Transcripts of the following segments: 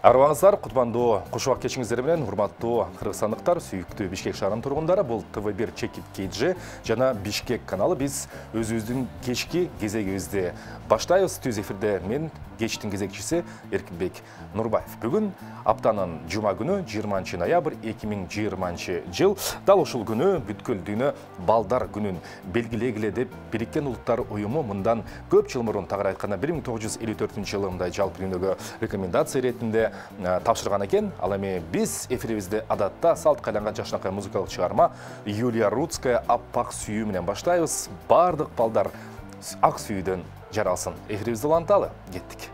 Арыбаңыздар, кутмандуу кушубак кечиңиздер менен, урматтуу кыргызстандыктар, сүйүктүү Бишкек шаарынын тургундары, бул ТВ1 Чекит KG жана Бишкек каналы. Биз өзүбүздүн кечки кезегибизди баштайбыз. Түз эфирде мен кечтин кезекчиси Эркинбек Нурбаев. Бүгүн аптанын жума күнү 20 ноябрь 2020 жыл. Дал ушул күнү бүткүл дүйнө балдар күнүн белгилегиле деп Бириккен Улуттар уюму мындан көп жыл мурун, тагыраак айтканда 1954 жылы мындай жалпы дүйнөгө рекомендация иретинде тапшырган экен. Ал эми биз эфирибизде адатта салт кайланган жашынакай музыкалык чыгарма Юлия Рудская «Аппак сүйүү» менен баштайбыз. Бардык балдар ак сүйүүдөн жаралсын. Эфирибизди уланталы. Кеттик.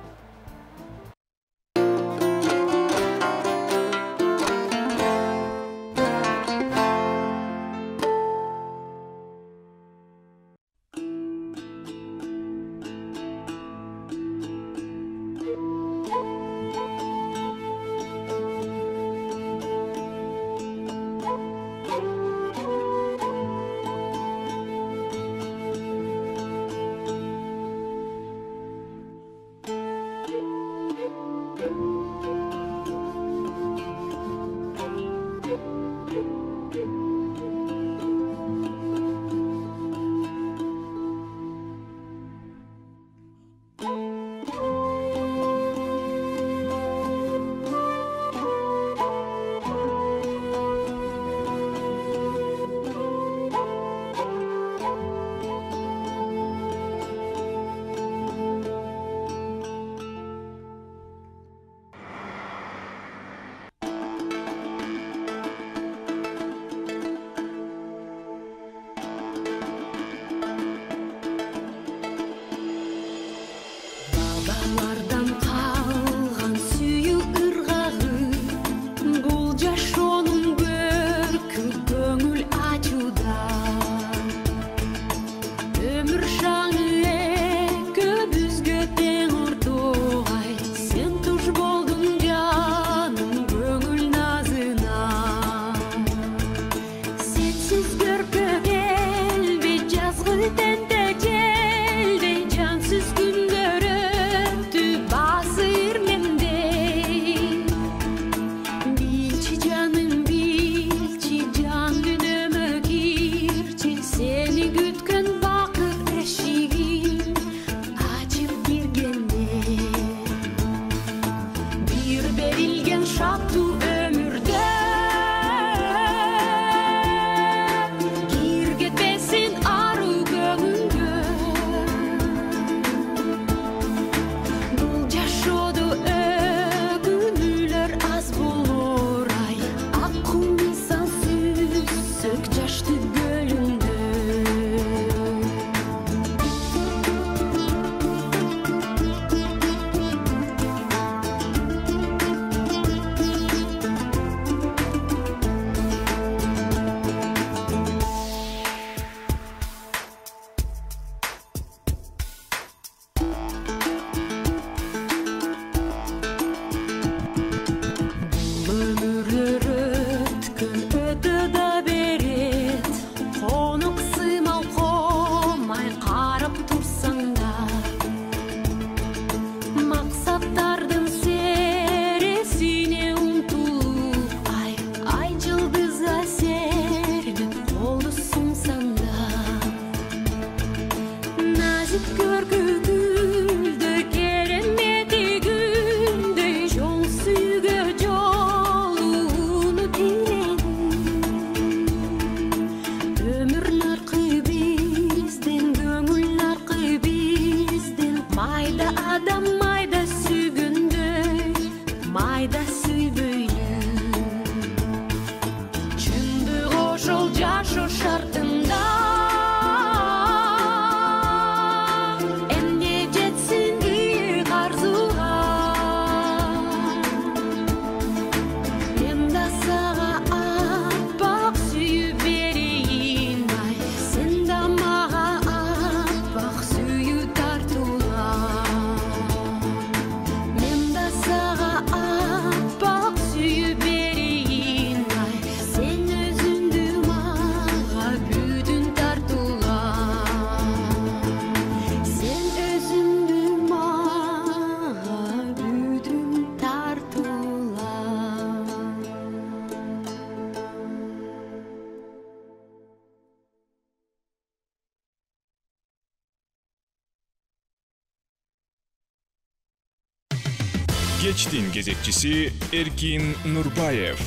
Кечтин кезекчиси Эркин Нурбаев.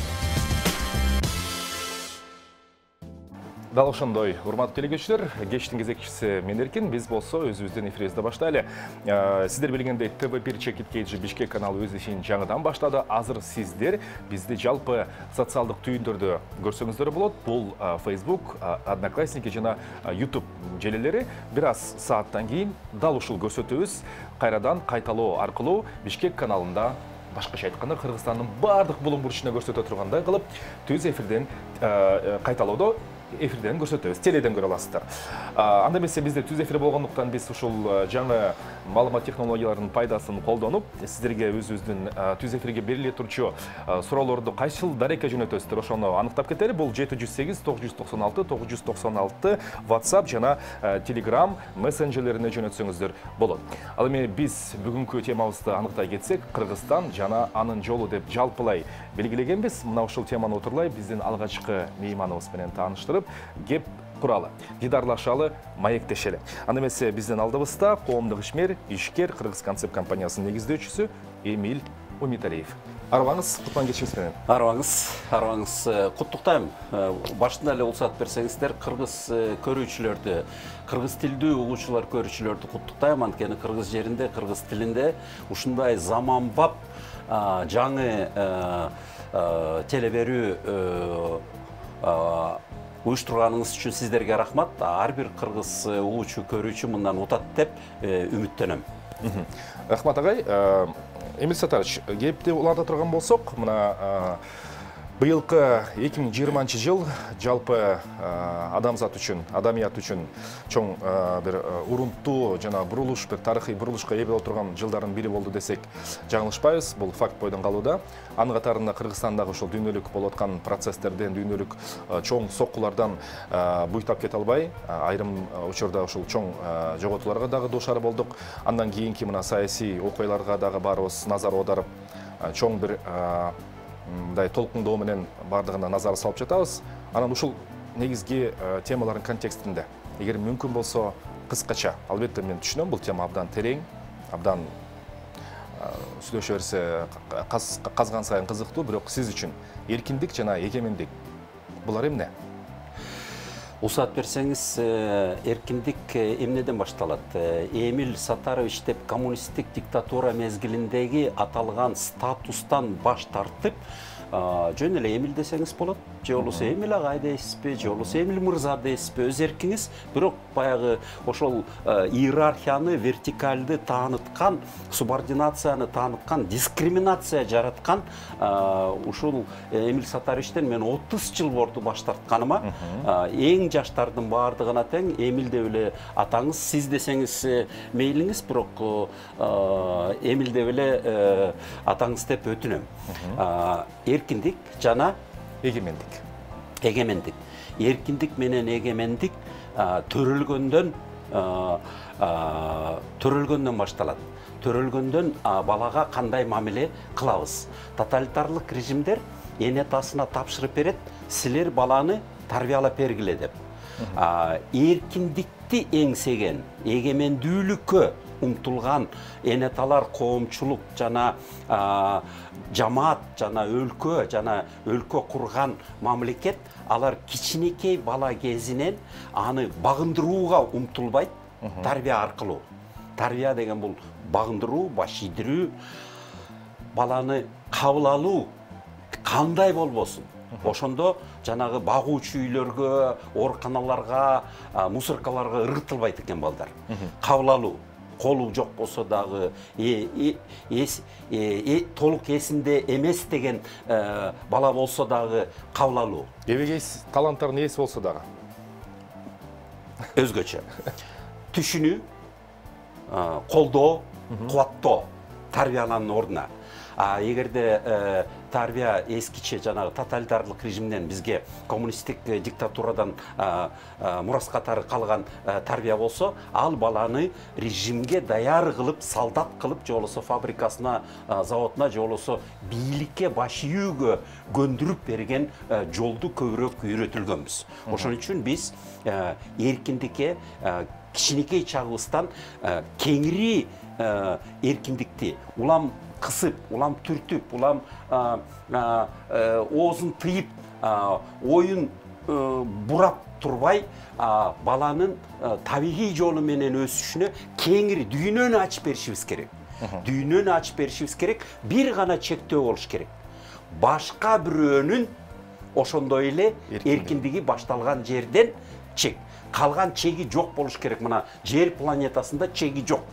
Дал ошондой, урматтуу телекөрүүчүлөр, кечтин кезекчиси мен Эркин, биз болсо өзүбүздүн эфирибизди баштайлы. Сиздер билгендей ТВ1 Чекит KG Бишкек каналы өз ишин жаңыдан баштады. Азыр сиздер бизди жалпы социалдык түйүндөрдө көрсөңүздөр болот. Бул Facebook, Одноклассники жана YouTube желелери. Бир аз сааттан кийин дал ушул көрсөтүүбүз кайрадан кайталоо аркылуу Бишкек каналында, башкача айтканда Кыргызстандын бардык булуң бурчуна көрсөтө тургандай кылып, түз эфирден кайталоодо эфирден көрсөтөбүз, теледен көрө аласыздар. Анда эмесе бизде түз эфир болгондуктан биз ушул жаңы маалымат технологияларынын пайдасын колдонуп, сиздерге өзүбүздүн түз эфирге бериле турчу суроолорду кайсыл дарекке жөнөтөсүздөр, ошону аныктап кетели. Бул 708 996 996 WhatsApp жана Telegram мессенджерлерине жөнөтсөңүздөр болот. Ал эми биз бүгүнкү темабызды аныктай кетсек, Кыргызстан жана анын жолу деп жалпылай белгилегенбиз. Мына ушул теманы отурлай биздин алгачкы мейманыбыз менен тааныштырып, кеп куралы, дидарлашалы, маектешели. Анда эмесе биздин алдыбызда коомдук ишмер, ишкер Кыргыз концепт компаниясынын негиздөөчүсү Эмиль Умиталиев. Арыбаңыз, кутман кечиңиз менен. Арыбаңыз, куттуктайм. Башында эле уруксат берсеңиздер, кыргыз көрүүчүлөрдү, кыргыз тилдүү угуучулар көрүүчүлөрдү куттуктайм. Анткени кыргыз жеринде, кыргыз тилинде ушундай заманбап жаңы теле берүү уюштурганыңыз үчүн сиздерге рахмат. Ар бир кыргыз угуучу, көрүүчү мындан утат деп үмүттөнөм. Рахмат агай. Эмиль Сатарович, кепти уланта турган болсок, мына быйылкы 2020 жыл жалпы адамзат үчүн, адамият үчүн чоң бир урунттуу жана бурулуш, бир тарыхый бурулушка ээ боло турган жылдардын бири болду десек жаңылышпайбыз. Бул факт бойдон калууда. Анын катарында Кыргызстандагы ушул дүйнөлүк болуп аткан процесстерден, дүйнөлүк чоң соккулардан буйтап кете албай, айрым учурда ушул чоң жоготууларга дагы дуушар болдук. Андан кийинки мына саясий окуяларга дагы баарыбыз назар аударып, чоң бир мындай толкундоо менен бардыгына назар салып жатабыз. Анан ушул негизги темалардын контекстинде, эгер мүмкүн болсо кыскача, албетте мен түшүнөм, бул тема абдан терең, абдан сүйлөшө берсе казган сайын кызыктуу, бирок сиз үчүн эркиндик жана эгемендик булар эмне? Уруксат берсеңиз, эркиндик эмнеден башталат? Эмиль Сатарович деп коммунисттик диктатура мезгилиндеги аталган статустан баш тартып, жөн эле Эмиль десеңиз болот. Же болбосо Эмиль агай дейсизби, же болбосо Эмиль мырза дейсизби, өз эркиңиз. Бирок баягы ошол иерархияны, вертикалды тааныткан, субординацияны тааныткан, дискриминация жараткан ушул Эмиль Сатаровичтен мен 30 жыл болду баш тартканыма. Эң жаштардын баардыгына тең Эмиль деп эле атаңыз, сиз десеңиз мейлиңиз, бирок Эмиль деп эле атаңыз деп өтүнөм. Эркиндик жана эгемендик. Эркиндик менен эгемендик төрөлгөндөн башталат. Төрөлгөндөн балага кандай мамиле кылабыз? Тоталитарлык режимдер энетасына тапшырып берет, силер баланы тарбиялап бергиле деп. Эркиндикти эңсеген, эгемендүүлүккө умтулган энеталар, коомчулук жана жамаат жана өлкө курган мамлекет, алар кичинекей бала кезинен аны багындырууга умтулбайт, тарбия аркылуу. Тарбия деген бул багындыруу, баш ийдирүү, баланы кабыл алуу кандай болбосун. Ошондо жанагы багуучу үйлөргө, ооруканаларга, мусоркаларга ыргытылбайт экен балдар. Кабыл алуу. Колу жок болсо дагы, толук эсинде эмес деген бала болсо дагы кабыл алуу. Эбегейс таланттардын ээси болсо дагы өзгөчө. Түшүнүү, колдоо, кубаттоо тарбиянын ордуна. Эгерде тарбия эскиче жанагы тоталитарлык режимден бизге коммунисттик диктатурадан мурас катары калган тарбия болсо, ал баланы режимге даяр кылып, солдат кылып, же болбосо фабрикасына, заводуна, же болбосо бийликке баш ийүүгө көндүрүп берген жолду көбүрөөк үйрөтүлгөнбүз. Ошон үчүн биз эркиндикке кичинекей чагыбыздан кеңири эркиндикти, улам кысып, улам түртүп, улам оозун тыйып, оюн бурап турбай, баланын табигый жолу менен өсүшүнө кеңири дүйнөнү ачып беришибиз керек. Дүйнөнү ачып беришибиз керек. Бир гана чектөө болуш керек. Башка бирөөнүн ошондой эле эркиндиги башталган жерден чек. Калган чеги жок болуш керек. Мына жер планетасында чеги жок.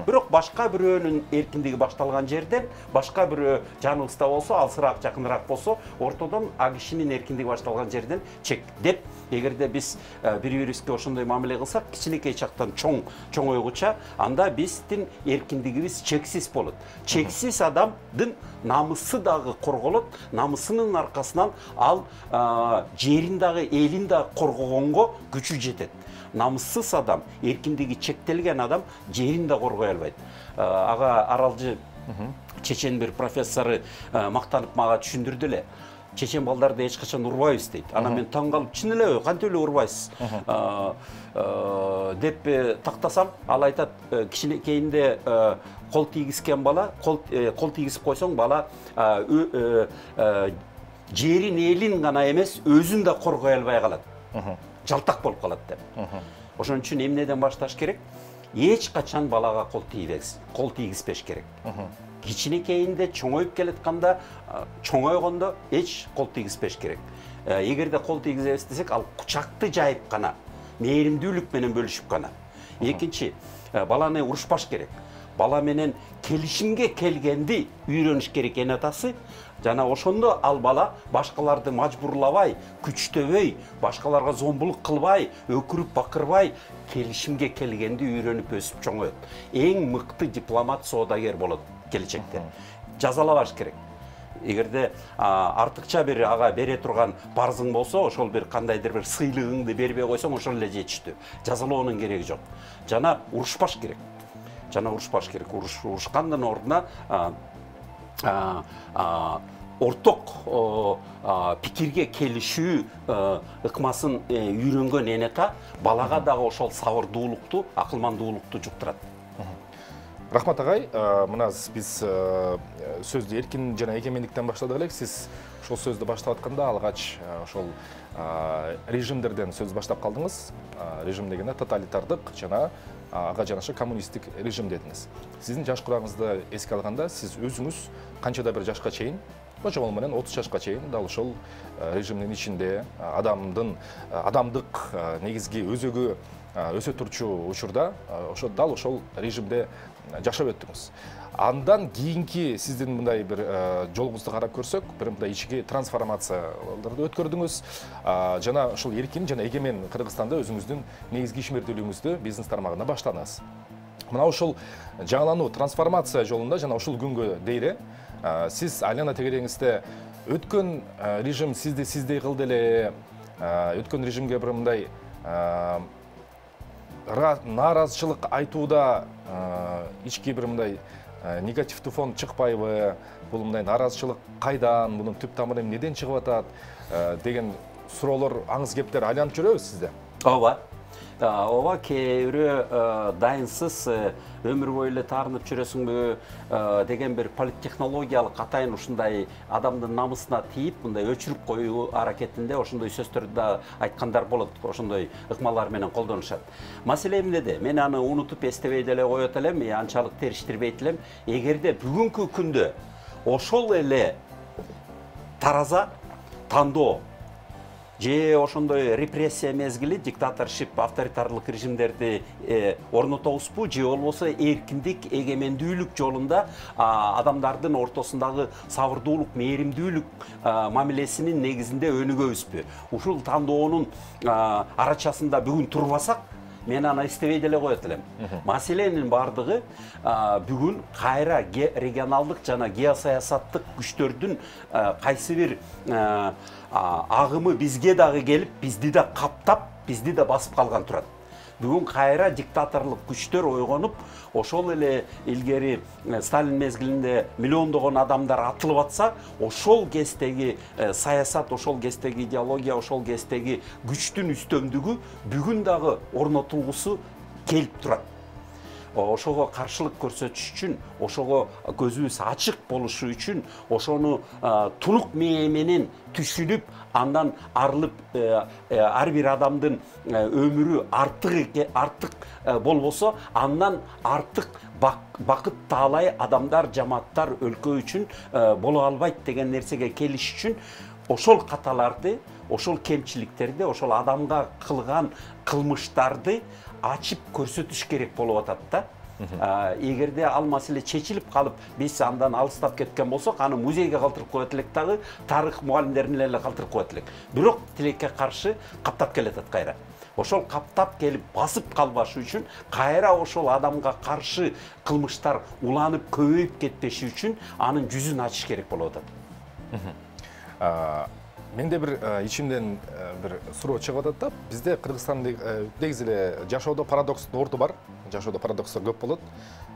Бирок башка бирөөнүн эркиндиги башталган жерден, башка бирөө жаныбызда болсо, алсыраак, жакыныраак болсо, ортодон а кишинин эркиндиги башталган жерден чек деп, эгерде биз бири-бирибизге ошондой мамиле кылсак, кичинекей чактан чоңойгуча, анда биздин эркиндигибиз чексиз болот. Чексиз адамдын намысы дагы корголот, намысынын аркасынан ал жерин дагы, элин дагы коргогонго күчү жетет. Намыссыз адам, эркиндиги чектелген адам жерин да коргой албайт. Ага аралжы чечен бир профессору мактанып мага түшүндүрдү эле. Чечен балдарды эч качан урбайбыз дейт. Ана мен таң калып, чын эле кантип эле урбайсыз деп тактасам, ал айтат, кичинекейинде кол тийгизген бала, кол тийгизип койсоң, бала жерин, элин гана эмес, өзүн да коргой албай калат. Жалтак болуп калат деп. Ошон үчүн эмнеден башташ керек? Эч качан балага кол тийгизбеш керек. Кичинекейинде чоңоюп келатканда, чоңойгондо эч кол тийгизбеш керек. Эгерде кол тийгизебиз десек, ал кучакты жайып гана, мээримдүүлүк менен бөлүшүп гана. Экинчи, баланы урушпаш керек. Бала менен келишимге келгенди үйрөнүш керек эн атасы. Жана ошондо ал бала башкаларды мажбурлабай, күчтөбөй, башкаларга зомбулук кылбай, өкүрүп бакырбай, келишимге келгенди үйрөнүп өсүп чоңоет. Эң мыкты дипломат, соодагер болот келечекте. Жазалабаш керек. Эгерде артыкча бир ага бере турган парзың болсо, ошол бир кандайдыр бир сыйлыгыңды бербей койсоң, ошол эле жетиштүү. Жазалоонун кереги жок. Жана урушпаш керек. Урушкандын ордуна орток пикирге келишүү ыкмасын үйрөнгөн энета балага дагы ошол сабырдуулукту, акылмандуулукту жуктурат. Рахмат агай, мына биз сөздү эркин жана эгемендиктен баштадык элек. Сиз ошол сөздү баштап атканда алгач ошол режимдерден сөз баштап калдыңыз. Режим дегенде тоталитардык жана ага жанаша коммунисттик режим дедиңиз. Сиздин жаш курагыңызды эске алганда, сиз өзүңүз канчада бир жашка чейин, ошол менен 30 жашка чейин дал ошол режимдин ичинде адамдык негизги өзөгү өсө турчу учурда дал ошол режимде жашап өттүңүз. Андан кийинки сиздин мындай бир жолуңузду карап көрсөк, бир мындай ички трансформацияларды өткөрдүңүз. Жана ошол эркин жана эгемен Кыргызстанда өзүңүздүн негизги ишмердүүлүгүңүздү бизнес тармагында баштадыңыз. Мына ошол жаңылануу, трансформация жолунда жана ушул күнгө дейре сиз айлана тегереңизде өткөн режим сиздей кылды эле, өткөн режимге бир мындай нааразычылык айтууда ички бир мындай негативдүү фон чыкпайбы? Бул мындай нааразычылык кайдан, мунун түп тамыры эмнеден чыгып атат деген суроолор, аңыз кептер айланып жүрөбүз сизде? Ооба, кээ бирөө дайынсыз өмүр бою эле таарынып жүрөсүңбү деген бир политтехнологиялык атайын ушундай адамдын намысына тийип, мындай өчүрүп коюу аракетинде ошондой сөздөрдү да айткандар болот, ошондой ыкмалар менен колдонушат. Маселе эмнеде? Мен аны унутуп эстебей деле коет элем, анчалык териштирбейт элем. Эгерде бүгүнкү күндө ошол эле тараза, тандоо же ошондой репрессия мезгили, диктаторшип, авторитарлык режимдерди орнотобузбу, же болбосо эркиндик, эгемендүүлүк жолунда адамдардын ортосундагы сабырдуулук, мээримдүүлүк мамилесинин негизинде өнүгөбүзбү? Ушул тандоонун арачасында бүгүн турбасак, мен аны эстебей деле коет элем. Маселенин бардыгы бүгүн кайра регионалдык жана геосаясаттык күчтөрдүн кайсы бир агымы бизге дагы келип, бизди да каптап, бизди да басып калган турат. Бүгүн кайра диктаторлук күчтөр ойгонуп, ошол эле илгери Сталин мезгилинде миллиондогон адамдар атылып атса, ошол кездеги саясат, ошол кездеги идеология, ошол кездеги күчтүн үстөмдүгү бүгүн дагы орнотулгусу келип турат. ошого каршылык көрсөтүш үчүн, ошого көзүбүз ачык болушу үчүн, ошону тунук мээ менен түшүнүп, андан арылып, ар бир адамдын өмүрү артык болбосо, андан артык бакыт таалай адамдар, жамааттар, өлкө үчүн боло албайт деген нерсеге келиш үчүн ошол каталарды, ошол кемчиликтерди, ошол адамга кылган кылмыштарды ачып көрсөтүш керек болуп атат да. Эгерде ал маселе чечилип калып, биз андан алыстап кеткен болсок, аны музейге калтырып коет элек дагы, тарых мугалимдерине эле калтырып коет элек. Бирок тилекке каршы каптап келатат кайра. Ошол каптап келип басып калбашы үчүн, кайра ошол адамга каршы кылмыштар уланып көбөйүп кетпеши үчүн анын жүзүн ачыш керек болуп атат. Менде бир ичимден бир суроо чыгып атат да. Бизде Кыргызстанда негизи эле жашоодо парадокстун орду бар. Жашоодо парадокстор көп болот.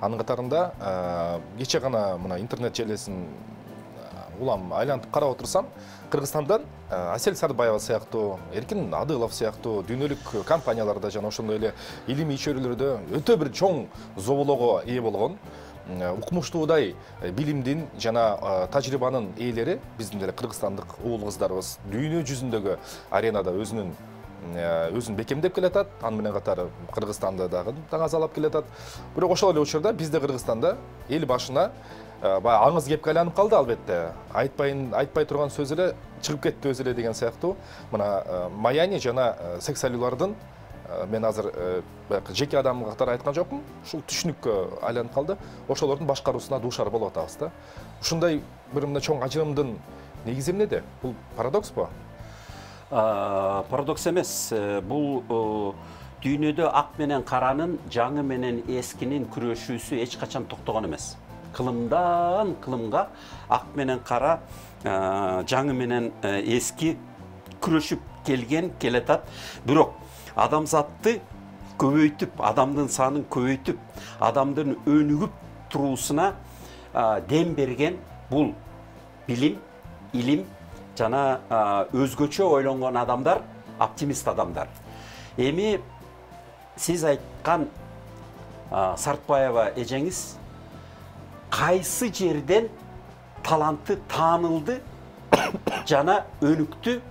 Анын катарында кече гана мына интернет желесин улам айлантып карап отурсам, Кыргызстандан Асель Сарбаева сыяктуу, Эркин Адылов сыяктуу дүйнөлүк компанияларда жана ошондой эле илимий чөйрөлөрдө өтө бир чоң зоболоого ээ болгон, укмуштуудай билимдин жана тажрыйбанын ээлери биздин деле кыргызстандык уул кыздарыбыз дүйнө жүзүндөгү аренада өзүн бекемдеп келатат. Аны менен катары Кыргызстанды дагы таңазалап келатат. Бирок ошол эле учурда бизде Кыргызстанда эл башына баягы аңыз кепке айланып калды, албетте. Айтпай турган сөз эле чыгып кетти өзү эле деген сыяктуу. Мына Маяни жана сексуалдардын мен азыр жеке адам катары айткан жокмун. Ушул түшүнүккө айланып калды. Ошолордун башкаруусуна дуушар болуп атабыз да. Ушундай бир мындай чоң ажырымдын негизи эмнеде? Бул парадокспу? Парадокс эмес. Бул дүйнөдө ак менен каранын, жаңы менен эскинин күрөшүүсү эч качан токтогон эмес. Кылымдан кылымга ак менен кара, жаңы менен эски күрөшүп келатат. Бирок адамзатты көбөйтүп, адамдын санын көбөйтүп, адамдын өнүгүп туруусуна дем берген бул билим, илим жана өзгөчө ойлонгон адамдар, оптимист адамдар. Эми сиз айткан Сартбаева эжеңиз кайсы жерден таланты таанылды жана өнүктү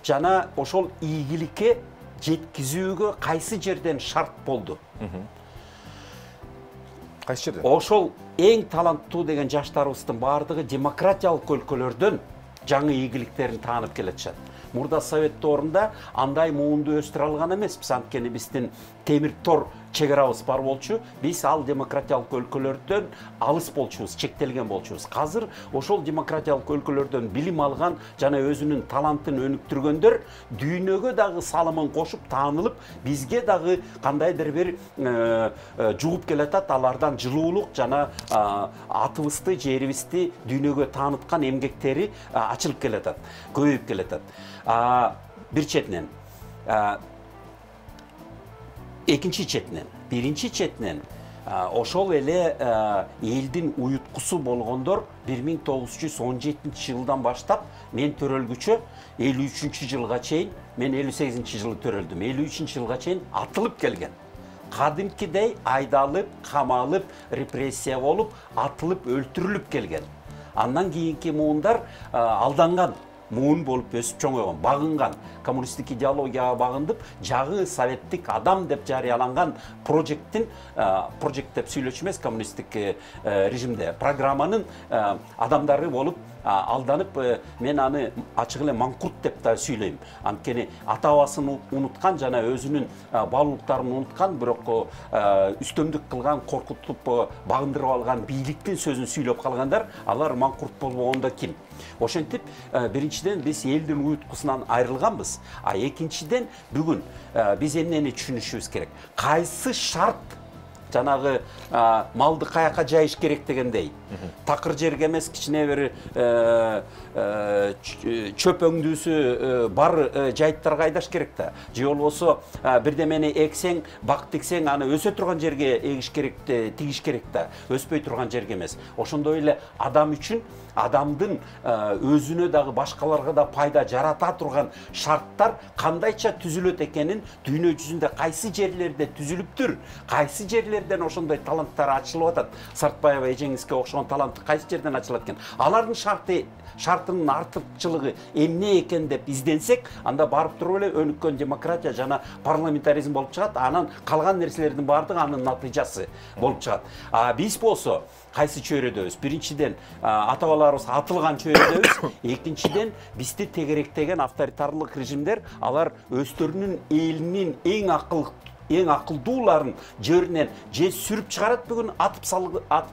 жана ошол ийгиликке жеткизүүгө кайсы жерден шарт болду? Кайсы жерден? Ошол эң таланттуу деген жаштарыбыздын баардыгы демократиялык өлкөлөрдөн жаңы ийгиликтерин таанып келатышат. Мурда Совет доорунда андай муунду өстүрө алган эмеспиз, анткени биздин темир тор чек-арабыз бар болчу, биз ал демократиялык өлкөлөрдөн алыс болчубуз, чектелген болчубуз. Азыр ошол демократиялык өлкөлөрдөн билим алган жана өзүнүн талантын өнүктүргөндөр дүйнөгө дагы салымын кошуп таанылып, бизге дагы кандайдыр бир жугуп келатат, алардан жылуулук жана атыбызды, жерибизди дүйнөгө тааныткан эмгектери ачылып келатат, көбөйүп келатат. Бир четинен экинчи четинен, биринчи четинен ошол эле элдин уюткусу болгондор 1917 жылдан баштап мен төрөлгүчө 53 жылга чейин, мен 58 жылы төрөлдүм, 53 жылга чейин атылып келген. Кадимкидей айдалып, камалып, репрессия болуп, атылып, өлтүрүлүп келген. Андан кийинки муундар алданган муун болуп өсүп чоңойгон, багынган, коммунисттик идеологияга багындып, жагы советтик адам деп жарыяланган проект деп сүйлөчү эмес, коммунисттик режимде программанын адамдары болуп алданып, мен аны ачык эле маңкурт деп да сүйлөйм. Анткени ата бабасын унуткан жана өзүнүн баалуулуктарын унуткан, бирок үстөмдүк кылган, коркутуп багындырып алган бийликтин сөзүн сүйлөп калгандар, алар маңкурт болбогондо ким? Ошентип, биринчиден биз элдин уюткусунан айрылганбыз, экинчиден бүгүн биз эмнени түшүнүшүбүз керек? Кайсы шарт жанагы малды каяка жайыш керек дегендей, такыр жерге эмес, кичине бир чөп өңдүүсү бар жайыттарга айдаш керек да. Же болбосо бирдемени эксең, бак тиксең, аны өсө турган жерге эгиш керек, тигиш керек да, өспөй турган жерге эмес. Ошондой эле адам үчүн адамдын өзүнө дагы башкаларга да пайда жарата турган шарттар кандайча түзүлөт экенин, дүйнө жүзүндө кайсы жерлерде түзүлүптүр, кайсы жерлерде жерден ошондой таланттар ачылып атат? Сартбаева эжеңизге окшогон талант кайсы жерден ачылат экен? Алардын шартынын артыкчылыгы эмне экен деп изденсек, анда барып туруп эле өнүккөн демократия жана парламентаризм болуп чыгат. Анан калган нерселердин баардыгы анын натыйжасы болуп чыгат. Биз болсо кайсы чөйрөдөбүз? Биринчиден ата бабаларыбыз атылган чөйрөдөбүз. Экинчиден бизди тегеректеген авторитарлык режимдер алар өздөрүнүн элинин эң акылдууларын жеринен же сүрүп чыгарат, бүгүн атып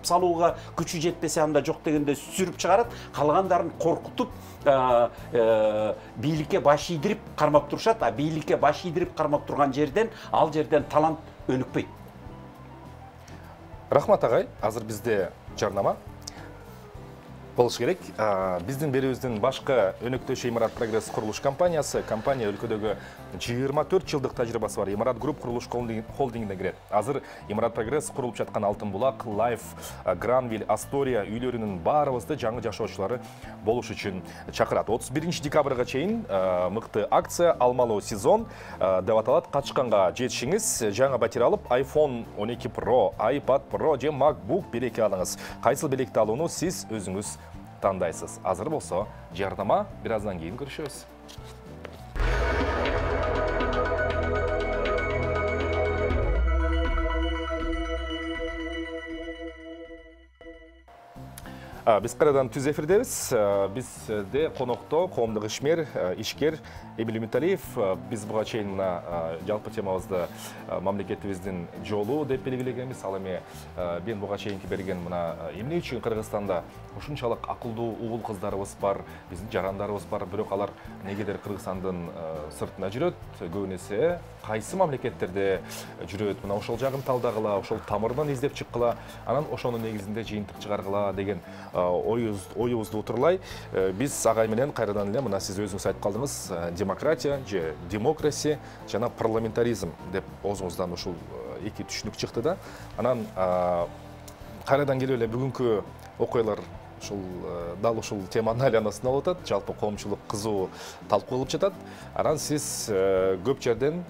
салууга күчү жетпесе анда жок дегенде сүрүп чыгарат, калгандарын коркутуп бийликке баш ийдирип кармап турушат. Бийликке баш ийдирип кармап турган жерден ал жерден талант өнүкпөйт. Рахмат агай, азыр бизде жарнама болуш керек. Биздин берүүбүздүн башкы өнөктөшү Имарат Прогресс курулуш компаниясы. Компания өлкөдөгү 24 жылдык тажрыйбасы бар Имарат Групп курулуш холдингине кирет. Азыр Имарат Прогресс курулуп жаткан Алтын булак, Лайф, Гранвиль, Астория үйлөрүнүн баарыбызды жаңы жашоочулары болуш үчүн чакырат. 31 декабрга чейин мыкты акция, алмалуу сезон деп аталат. Качканга жетишиңиз, жаңы батир алып, iPhone 12 Pro, iPad Pro же MacBook белекти алыңыз. Кайсыл белекти алууну сиз өзүңүз тандайсыз. Азыр болсо жарнама, бир аздан кийин көрүшөбүз. Биз кайрадан түз эфирдебиз. Бизде конокто коомдук ишмер, ишкер Эмиль Үмүталиев. Биз буга чейин мына жалпы темабызды мамлекетибиздин жолу деп белгилегенбиз. Ал эми мен буга чейинки берген мына эмне үчүн Кыргызстанда ушунчалык акылдуу угул кыздарыбыз бар, биздин жарандарыбыз бар, бирок алар негедир Кыргызстандын сыртына жүрөт, көбүн эсе кайсы мамлекеттерде жүрөт, мына ошол жагын талдагыла, ошол тамырынан издеп чыккыла, анан ошонун негизинде жыйынтык чыгаргыла деген оюбузду утурлай. Биз агай менен кайрадан эле мына сиз өзүңүз айтып калдыңыз, демократия же демокраси жана парламентаризм деп оозуңуздан ушул эки түшүнүк чыкты да. Анан кайрадан келип эле бүгүнкү окуялар дал ушул теманын айланасында болуп атат. Жалпы коомчулук кызуу талкуу кылып жатат. Анан сиз көп жерден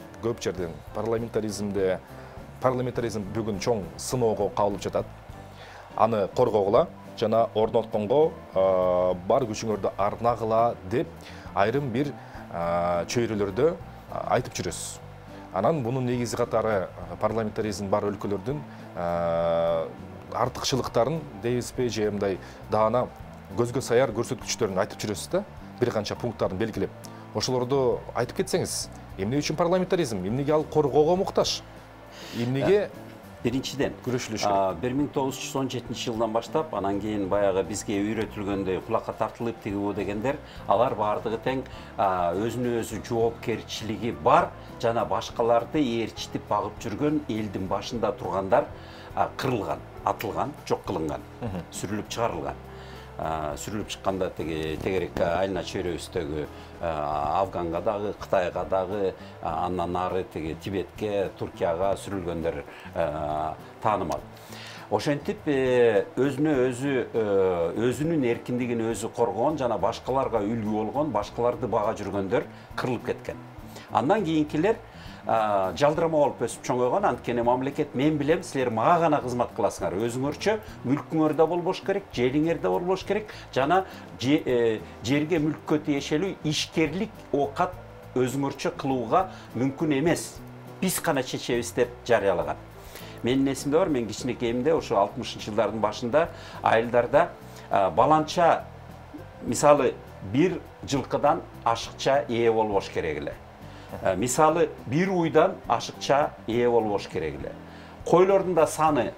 парламентаризм бүгүн чоң сыноого кабылып жатат. Аны коргогула жана орнотконго бар күчүңөрдү арнагыла деп айрым бир чөйрөлөрдө айтып жүрөсүз. Анан бунун негизи катары парламентаризм бар өлкөлөрдүн артыкчылыктарын дейбизби же мындай даана көзгө саяр көрсөткүчтөрүн айтып жүрөсүз да, бир канча пункттарын белгилеп. Ошолорду айтып кетсеңиз, эмне үчүн парламентаризм, эмнеге ал коргоого муктаж, эмнеге биринчиден күрөшүлүш керек? 1917 жылдан баштап, анан кийин баягы бизге үйрөтүлгөндөй кулакка тартылып тигибу дегендер, алар баардыгы тең өзүнө өзү жоопкерчилиги бар жана башкаларды ээрчитип багып жүргөн элдин башында тургандар кырылган, атылган, жок кылынган, сүрүлүп чыгарылган. Сүрүлүп чыкканда тегерек айылна чөйрөбүздөгү Афганга дагы, Кытайга дагы, андан нары Тибетке, Туркияга сүрүлгөндөр таанымал. Ошентип өзүнүн эркиндигин өзү коргон жана башкаларга үлгү болгон, башкаларды бага жүргөндөр кырылып кеткен. Андан кийинкилер жалдырама болуп өсүп чоңойгон. Анткени мамлекет мен билем, силер мага гана кызмат кыласыңар. Өзүңөрчө мүлкүңөр да болбош керек, жериңер да болбош керек жана жерге мүлккө тиешелүү ишкерлик оокат өзүңөрчө кылууга мүмкүн эмес. Биз гана чечебиз деп жарыялаган. Менин эсимде бар, мен кичинекейимде ошо 60-жылдардын башында айылдарда баланча, мисалы, бир жылкыдан ашыкча ээ болбош керек эле. Мисалы, бир уйдан ашыкча ээ болбош керек эле. Койлордун да саны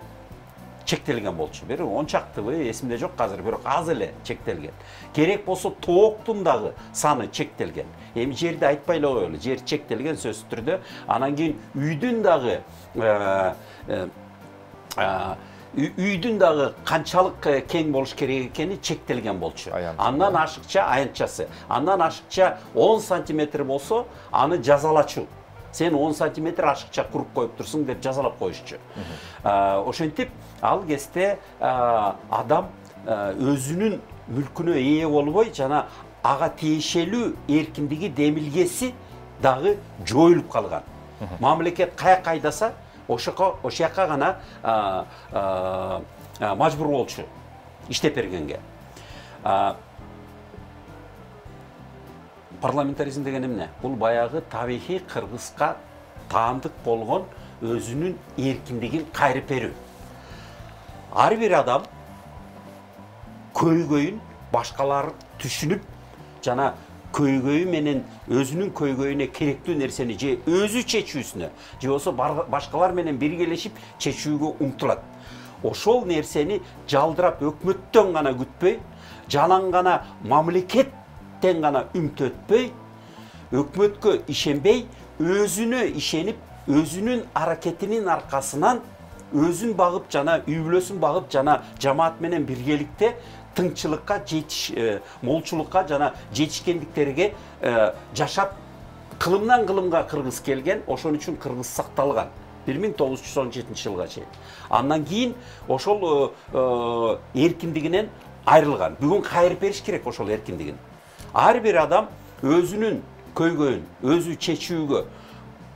чектелген болчу. Бир ончактыбы эсимде жок азыр, бирок аз эле чектелген. Керек болсо тооктун дагы саны чектелген. Эми жерди айтпай эле коелу, жер чектелген сөзсүз түрдө. Анан кийин үйдүн дагы канчалык кең болуш керек экени чектелген болчу. Андан ашыкча аянтчасы. Андан ашыкча 10 сантиметр болсо, аны жазалачу. Сен 10 сантиметр ашыкча куруп коюп турсуң деп жазалап коюшчу. Ошентип, ал кезде адам өзүнүн мүлкүнө ээ болбой жана ага тиешелүү эркиндиги демилгеси дагы жоюлуп калган. Мамлекет каяка айдаса, ошояка гана мажбур болчу иштеп бергенге. Парламентаризм деген эмне? Бул баягы табигый кыргызга таандык болгон өзүнүн эркиндигин кайрып берүү. Ар бир адам көйгөйүн башкалар түшүнүп, жана көйгөйү менен өзүнүн көйгөйүнө керектүү нерсени же өзү чечүүсүнө, же болбосо башкалар менен биргелешип чечүүгө умтулат. Ошол нерсени жалдырап өкмөттөн гана күтпөй, жалаң гана мамлекеттен гана үмүт өтпөй, өкмөткө ишенбей, өзүнө ишенип, өзүнүн аракетинин аркасынан өзүн багып жана үй бүлөсүн багып жана жамаат менен биргеликте тыңчылыкка молчулукка жана жетишкендиктерге жашап кылымдан кылымга кыргыз келген. Ошон үчүн кыргыз сакталган 1917 жылга чейин. Андан кийин ошол эркиндигинен айрылган. Бүгүн кайрып бериш керек ошол эркиндигин. Ар бир адам өзүнүн көйгөйүн өзү чечүүгө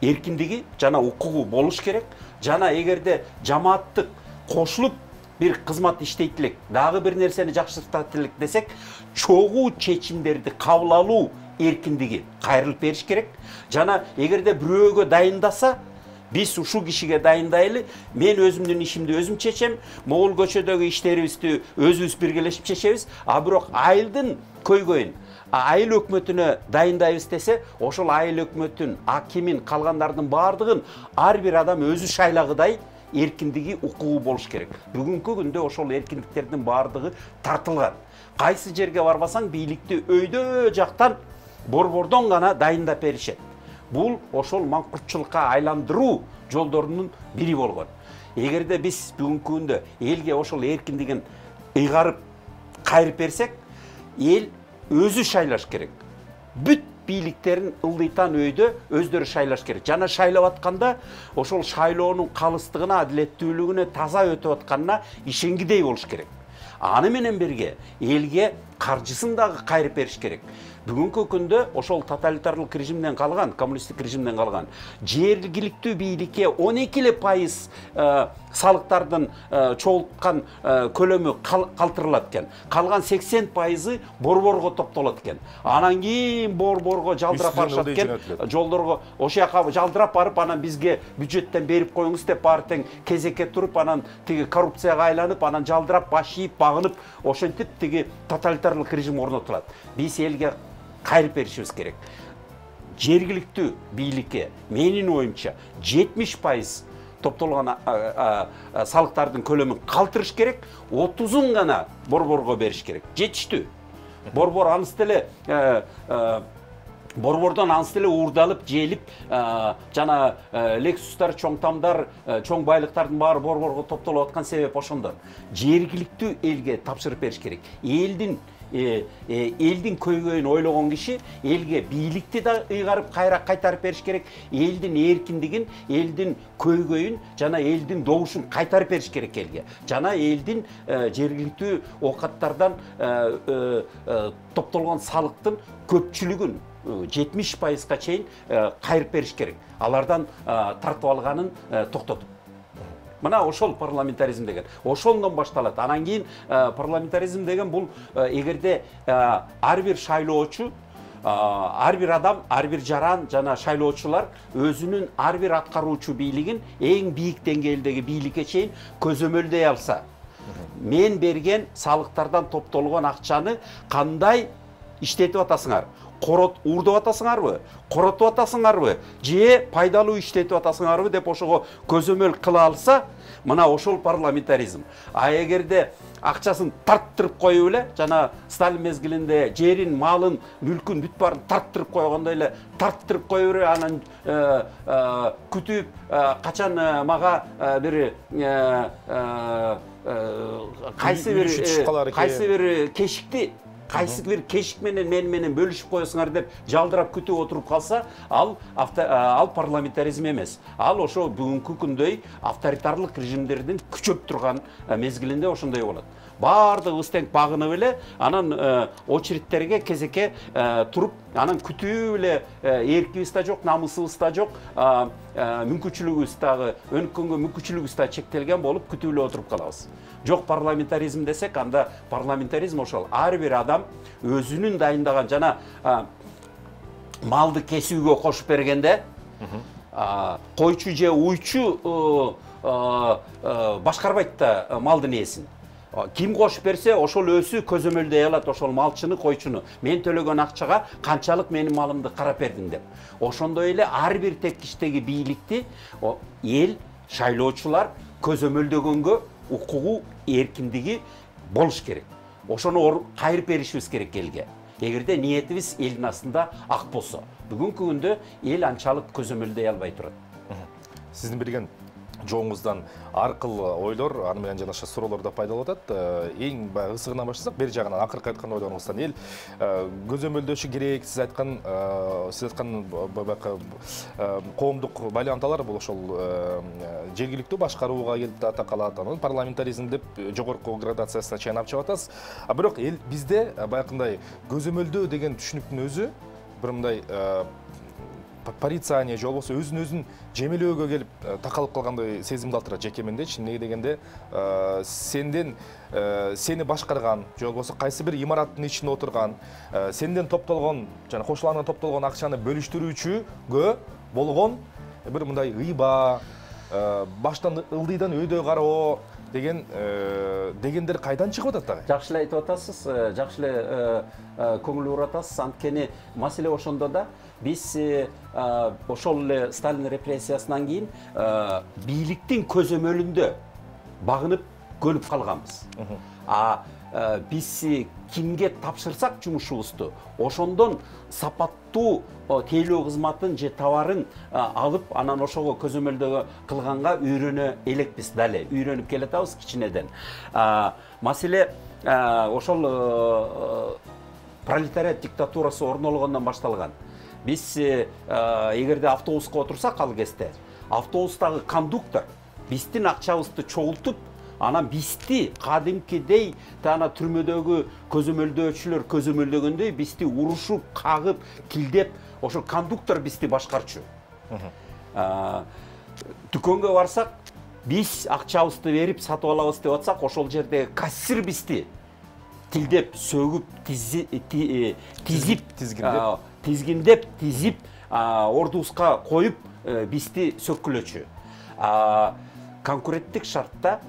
эркиндиги жана укугу болуш керек. Жана эгерде жамааттык кошулуп бир кызмат иштейт элек, дагы бир нерсени жакшыртат элек десек, чогуу чечимдерди кабыл алуу эркиндиги кайрылып бериш керек. Жана эгерде бирөөгө дайындаса, биз ушул кишиге дайындайлы, мен өзүмдүн ишимди өзүм чечем, могул көчөдөгү иштерибизди өзүбүз биргелешип чечебиз, а бирок айылдын көйгөйүн айыл өкмөтүнө дайындайбыз десе, ошол айыл өкмөтүн, акимин, калгандардын баардыгын ар бир адам өзү шайлагыдай эркиндиги, укугу болуш керек. Бүгүнкү күндө ошол эркиндиктердин баардыгы тартылган. Кайсы жерге барбасаң, бийликти өйдө жактан борбордон гана дайындап беришет. Бул ошол маңкуртчулукка айландыруу жолдорунун бири болгон. Эгерде биз бүгүнкү күндө элге ошол эркиндигин ыйгарып кайрып берсек, эл өзү шайлаш керек. Бүт бийликтерин ылдыйтан өйдө өздөрү шайлаш керек. Жана шайлап атканда ошол шайлоонун калыстыгына, адилеттүүлүгүнө, таза өтүп атканына ишенгидей болуш керек. Аны менен бирге элге каржысын дагы кайрып бериш керек. Бүгүнкү күндө ошол тоталитарлык режимден калган, коммунисттик режимден калган жергиликтүү бийликке 12% салыктардын чогулткан көлөмү калтырылат экен. Калган 80% борборго топтолот экен. Анан кийин борборго жалдырап барышат экен. Жолдорго ошояка жалдырап барып, анан бизге бюджеттен берип коюңуз деп баары тең кезекке туруп, анан тиги коррупцияга айланып, анан жалдырап баш ийип, багынып, ошентип тиги тоталитарлык режим орнотулат. Биз элге кайрып беришибиз керек. Жергиликтүү бийликке менин оюмча 70% топтолгон салыктардын көлөмүн калтырыш керек, 30-ун гана борборго бериш керек. Жетиштүү. Борбор аныс деле борбордон аныс деле уурдалып, желип, жана Lexus'тар, чоң тамдар, чоң байлыктардын баары борборго топтолуп аткан себеп ошондон. Жергиликтүү элге тапшырып бериш керек. Элдин көйгөйүн ойлогон киши элге бийликти да ыйгарып кайтарып бериш керек. Элдин эркиндигин, элдин көйгөйүн жана элдин добушун кайтарып бериш керек элге. Жана элдин жергиликтүү оокаттардан топтолгон салыктын көпчүлүгүн 70%-га чейин кайрып бериш керек. Алардан тартып алганын токтотуп. Мына ошол парламентаризм деген. Ошондон башталат. Анан кийин парламентаризм деген бул эгерде ар бир шайлоочу, ар бир адам, ар бир жаран жана шайлоочулар өзүнүн ар бир аткаруучу бийлигин эң бийик деңгээлдеги бийликке чейин көзөмөлдөй алса, мен берген салыктардан топтолгон акчаны кандай иштетип атасыңар? Уурдап атасыңарбы? Коротуп атасыңарбы? Же пайдалуу иштетип атасыңарбы деп ошого көзөмөл кыла алса, мына ошол парламентаризм. А эгерде акчасын тарттырып коюп эле, жана Сталин мезгилинде жерин, малын, мүлкүн бүт баарын тарттырып койгондой эле тарттырып коюп берип, анан күтүп, качан мага бир кайсы бир кешикти кайсы бир кешик менен менен бөлүшүп коесуңар деп жалдырап күтүп отуруп калса, ал парламентаризм эмес. Ал ошо бүгүнкү күндөй авторитарлык режимдердин күчөп турган мезгилинде ошондой болот. Баардыгыбыз тең багынып эле, анан очередтерге кезекке туруп, анан күтүү эле эркибиз да жок, намысыбыз да жок, мүмкүнчүлүгүбүз дагы өнүккөнгө мүмкүнчүлүгүбүз дагы чектелген болуп күтүп эле отуруп калабыз. Жок парламентаризм десек, анда парламентаризм ошол ар бир адам өзүнүн дайындаган жана малды кесүүгө кошуп бергенде койчу же уйчу башкарбайт да малдын ээсин. Ким кошуп берсе, ошол өзү көзөмөлдөй алат ошол малчыны, койчуну. Мен төлөгөн акчага канчалык менин малымды карап бердиң деп. Ошондой эле ар бир тепкичтеги бийликти эл, шайлоочулар көзөмөлдөгөнгө укугу, эркиндиги болуш керек. Ошону кайрып беришибиз керек элге. Эгерде ниетибиз элдин астында ак болсо. Бүгүнкү күндө эл анчалык көзөмөлдөй албай турат. Сиздин берген жооңуздан ар кыл ойлор, аны менен жалаша суроолор да пайда болуп атат. Эң баягы ысыгынан баштасак, бери жагынан акыркы айткан ойлоруңуздан эл көзөмөлдөшү керек. Сиз айткан баягы коомдук байланталар бул ошол жергиликтүү башкарууга келип такалат. Анан парламентаризм деп жогорку градациясына чейин алып чыгып атасыз. Бирок эл бизде баягындай көзөмөлдөө деген түшүнүктүн өзү бир мындай порицание же болбосо өзүн жемелөөгө келип такалып калгандай сезим калтырат жеке мендечи. Эмнеге дегенде сени башкарган же болбосо кайсы бир имараттын ичинде отурган, сенден топтолгон жана кошулардан топтолгон акчаны бөлүштүрүүчүгө болгон бир мындай ыйба, баштан ылдыйдан өйдө кароо дегендер кайдан чыгып атат дагы? Жакшы эле айтып атасыз, жакшы эле көңүл буруп атасыз. Анткени маселе ошондо да биз ошол эле Сталин репрессиясынан кийин бийликтин көзөмөлүндө багынып көнүп калганбыз. Биз кимге тапшырсак жумушубузду, ошондон сапаттуу тейлөө кызматын же товарын алып, анан ошого көзөмөлдөө кылганга үйрөнө элекпиз дале, үйрөнүп келатабыз кичинеден. Маселе ошол пролетариат диктатурасы орнолгондон башталган. Биз эгерде автобуска отурсак ал кезде, автобустагы кондуктор биздин акчабызды чогултуп, анан бизди кадимкидей тана түрмөдөгү көзөмөлдөөчүлөр көзөмөлдөгөндөй бизди урушуп, кагып, килдеп, ошол кондуктор бизди башкарчу. Дүкөнгө барсак, биз акчабызды берип сатып алабыз деп атсак, ошол жерде кассир бизди тилдеп, сөгүп, тизгиндеп, ордубузга коюп, бизди сөккүлөчү. Конкуренттик шартта,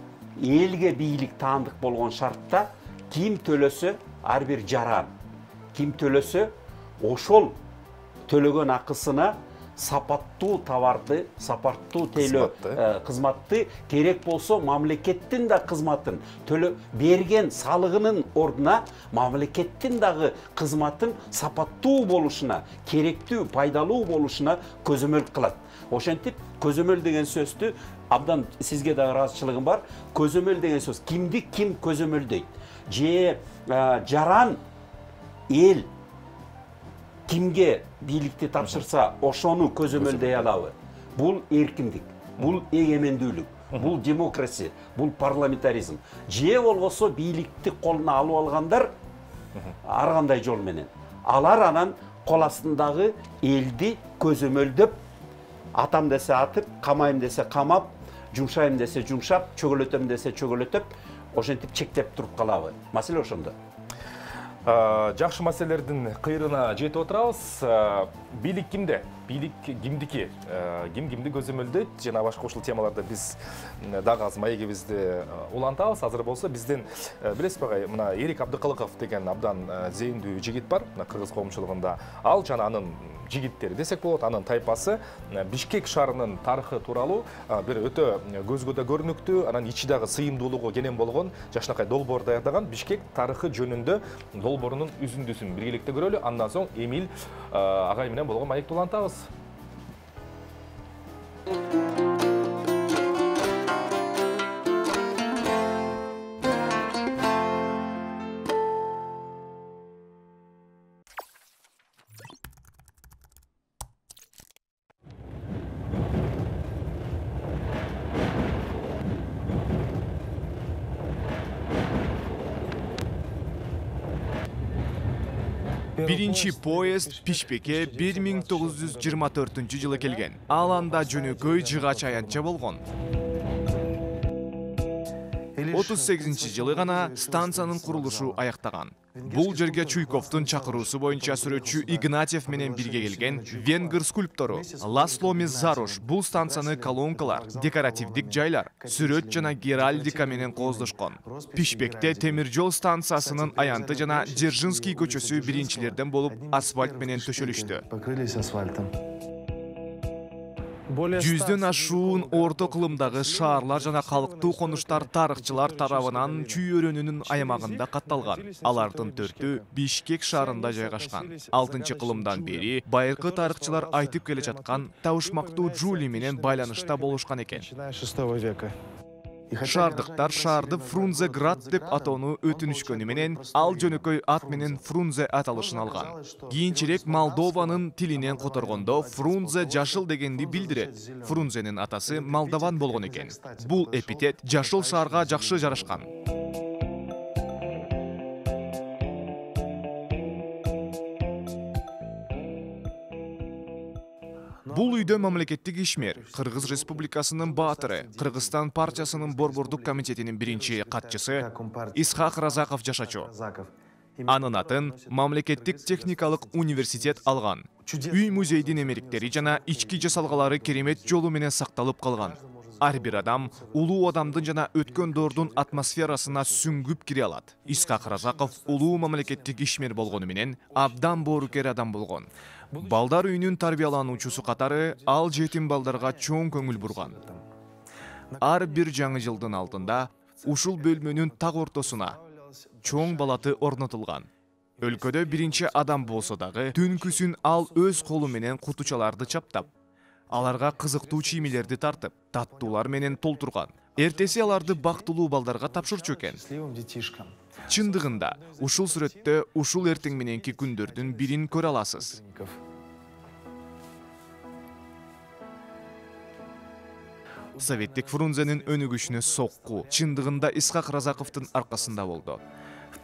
элге бийлик таандык болгон шартта ким төлөсө ар бир жаран, ким төлөсө ошол төлөгөн акысына сапаттуу товарды, сапаттуу тейлөө кызматты, керек болсо мамлекеттин да кызматын берген салыгынын ордуна мамлекеттин дагы кызматын сапаттуу болушуна, керектүү, пайдалуу болушуна көзөмөл кылат. Ошентип, көзөмөл деген сөздү абдан сизге да ыраазычылыгым бар. Көзөмөл деген сөз кимди ким көзөмөлдөйт? Же жаран эл кимге бийликти тапшырса, ошону көзөмөлдөй алабы? Бул эркиндик, бул эгемендүүлүк, бул демократия, бул парламентаризм. Же болбосо бийликти колуна алып алгандар ар кандай жол менен. Алар анан кол астындагы элди көзөмөлдөп, атам десе атып, камайым десе камап, жумшайым десе жумшап, чөгөлөтөм десе чөгөлөтөп, ошентип чектеп туруп калабы? Маселе ошондо. Жакшы маселелердин кыйрына жетип отурабыз. Бийлик кимде? Бийлик кимдики? Ким кимди көзөмөлдөйт? Жана башка ушул темаларда биз дагы аз маегибизди улантабыз. Азыр болсо бизден билесизби, мына Эрик Абдыкалыков деген абдан зээндүү жигит бар, мына кыргыз коомчулугунда. Ал жана анын жигиттери десек болот, анын тайпасы Бишкек шаарынын тарыхы тууралуу бир өтө көзгө да көрүнүктүү, анан ичи дагы сыйымдуулугу кенен болгон жакшынакай долбоор даярдаган Бишкек тарыхы жөнүндө долбоорунун үзүндүсүн биргеликте көрөлү. Андан соң Эмил агай менен болгон маекти улантабыз. Биринчи поезд Пишпекке 1924-жылы келген. Ал анда жөнөкөй жыгач аянтча болгон. 38-жылы гана станциянын курулушу аяктаган. Бул жерге Чуйковдун чакыруусу боюнча сүрөтчү Игнатьев менен бирге келген венгер скульптору Ласло Меззарош бул станцияны колонкалар, декоративдик жайлар, сүрөт жана геральдика менен кооздошкон. Пишпекте темир жол станциясынын аянты жана Дзержинский көчөсү биринчилерден болуп асфальт менен төшөлүштү. Жүздөн ашуун орто кылымдагы шаарлар жана калктуу конуштар тарыхчылар тарабынан Чүй өрөөнүнүн аямагында катталган. Алардын 4-ü Бишкек шаарында жайгашкан. 6-кылымдан бери байыркы тарыхчылар айтып келе жаткан табышмактуу Жули менен байланышта болушкан экен. Шаардыктар шаарды Фрунзеград деп атоону өтүнүшкөнү менен ал жөнөкөй ат менен Фрунзе аталышын алган. Кийинчерээк Молдованын тилинен которгондо Фрунзе жашыл дегенди билдирет. Фрунзенин атасы молдован болгон экен. Бул эпитет жашыл шаарга жакшы жарашкан. Бул үйдө мамлекеттик ишмер, Кыргыз Республикасынын баатыры, Кыргызстан партиясынын борбордук комитетинин биринчи катчысы Исхак Разаков жашачу. Анын атын мамлекеттик техникалык университет алган. Үй музейдин эмериктери жана ички жасалгалары керемет жолу менен сакталып калган. Ар бир адам улуу адамдын жана өткөн доордун атмосферасына сүңгүп кире алат. Исхак Разаков улуу мамлекеттик ишмер болгону менен абдан боорукер адам болгон. Балдар үйүнүн тарбиялануучусу катары ал жетим балдарга чоң көңүл бурган. Ар бир жаңы жылдын алдында ушул бөлмөнүн так ортосуна чоң балаты орнотулган. Өлкөдө биринчи адам болсо дагы түнкүсүн ал өз колу менен кутучаларды чаптап, аларга кызыктуу чиймелерди тартып, таттуулар менен толтурган. Эртеси аларды бактылуу балдарга тапшырчу экен. Чындыгында, ушул сүрөттө ушул эртең мененки күндөрдүн бирин көрө аласыз. Советтик Фрунзенин өнүгүшүнө сокку чындыгында Исхак Разаковдун аркасында болду.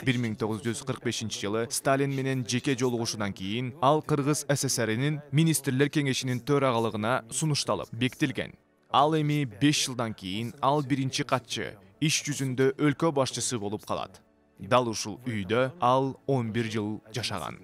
1945-жылы Сталин менен жеке жолугушуудан кийин ал Кыргыз СССРинин министрлер кеңешинин төрагалыгына сунушталып бекитилген. Ал эми 5 жылдан кийин ал биринчи катчы, иш жүзүндө өлкө башчысы болуп калат. Дал ушул үйдө ал 11 жыл жашаган.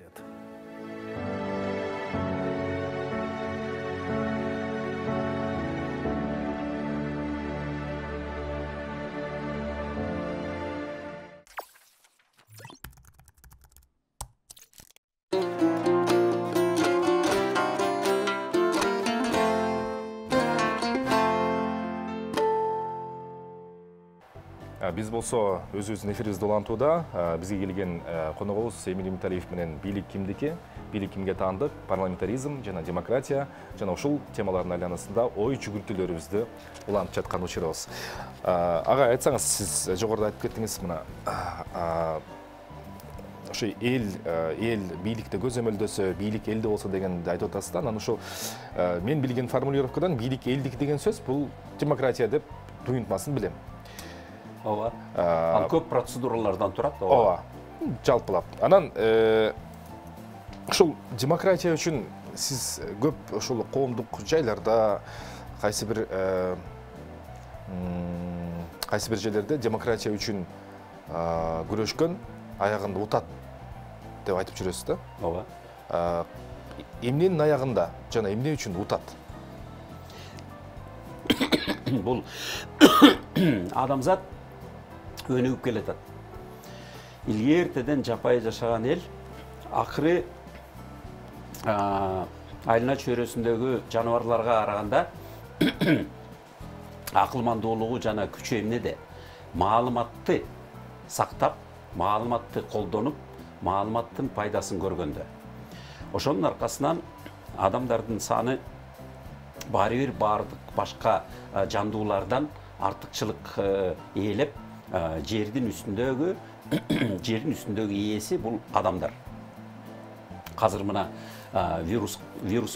Биз болсо өзүбүздүн эфирибизди улантууда. Бизге келген коногубуз Эмиль Муталиев менен бийлик кимдики, бийлик кимге таандык, парламентаризм жана демократия жана ушул темалардын айланасында ой жүгүртүүлөрүбүздү улантып жаткан учурубуз. Ага, айтсаңыз, сиз жогоруда айтып кеттиңиз, мына ошо эл бийликте көзөмөлдөсө, бийлик элде болсо дегенди айтып атасыз да. Анан ушул мен билген формулировкадан бийлик элдики деген сөз бул демократия деп туюнтмасын билем. Ооба. Ал көп процедуралардан турат. Ооба. Жалпылап. Анан ушул демократия үчүн сиз көп ушул коомдук жайларда кайсы бир жерлерде демократия үчүн күрөшкөн, аягында утат деп айтып жүрөсүз да. Ооба. Эмненин аягында жана эмне үчүн утат? Бул адамзат өнүгүп келатат. Илгертеден жапайы жашаган эл акыры айылына чөйрөсүндөгү жаныбарларга караганда акылмандуулугу жана күчү эмнеде? Маалыматты сактап, маалыматты колдонуп, маалыматтын пайдасын көргөндө. Ошонун аркасынан адамдардын саны баары бир бардык башка жандуулардан артыкчылык ээлеп, жердин үстүндөгү ээси бул адамдар. Азыр мына вирус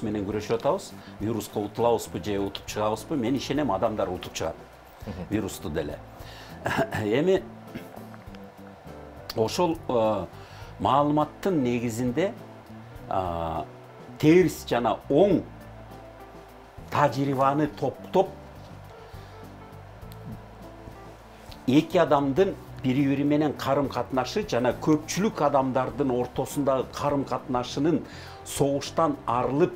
менен күрөшүп атабыз. Вируска утулабызбы же утуп чыгабызбы? Мен ишенем, адамдар утуп чыгат. Вирусту деле. Эми ошол маалыматтын негизинде терс жана оң тажрыйбаны топтоп эки адамдын бири-бири менен карым-катнашы жана көпчүлүк адамдардын ортосундагы карым-катнашынын согуштан арылып,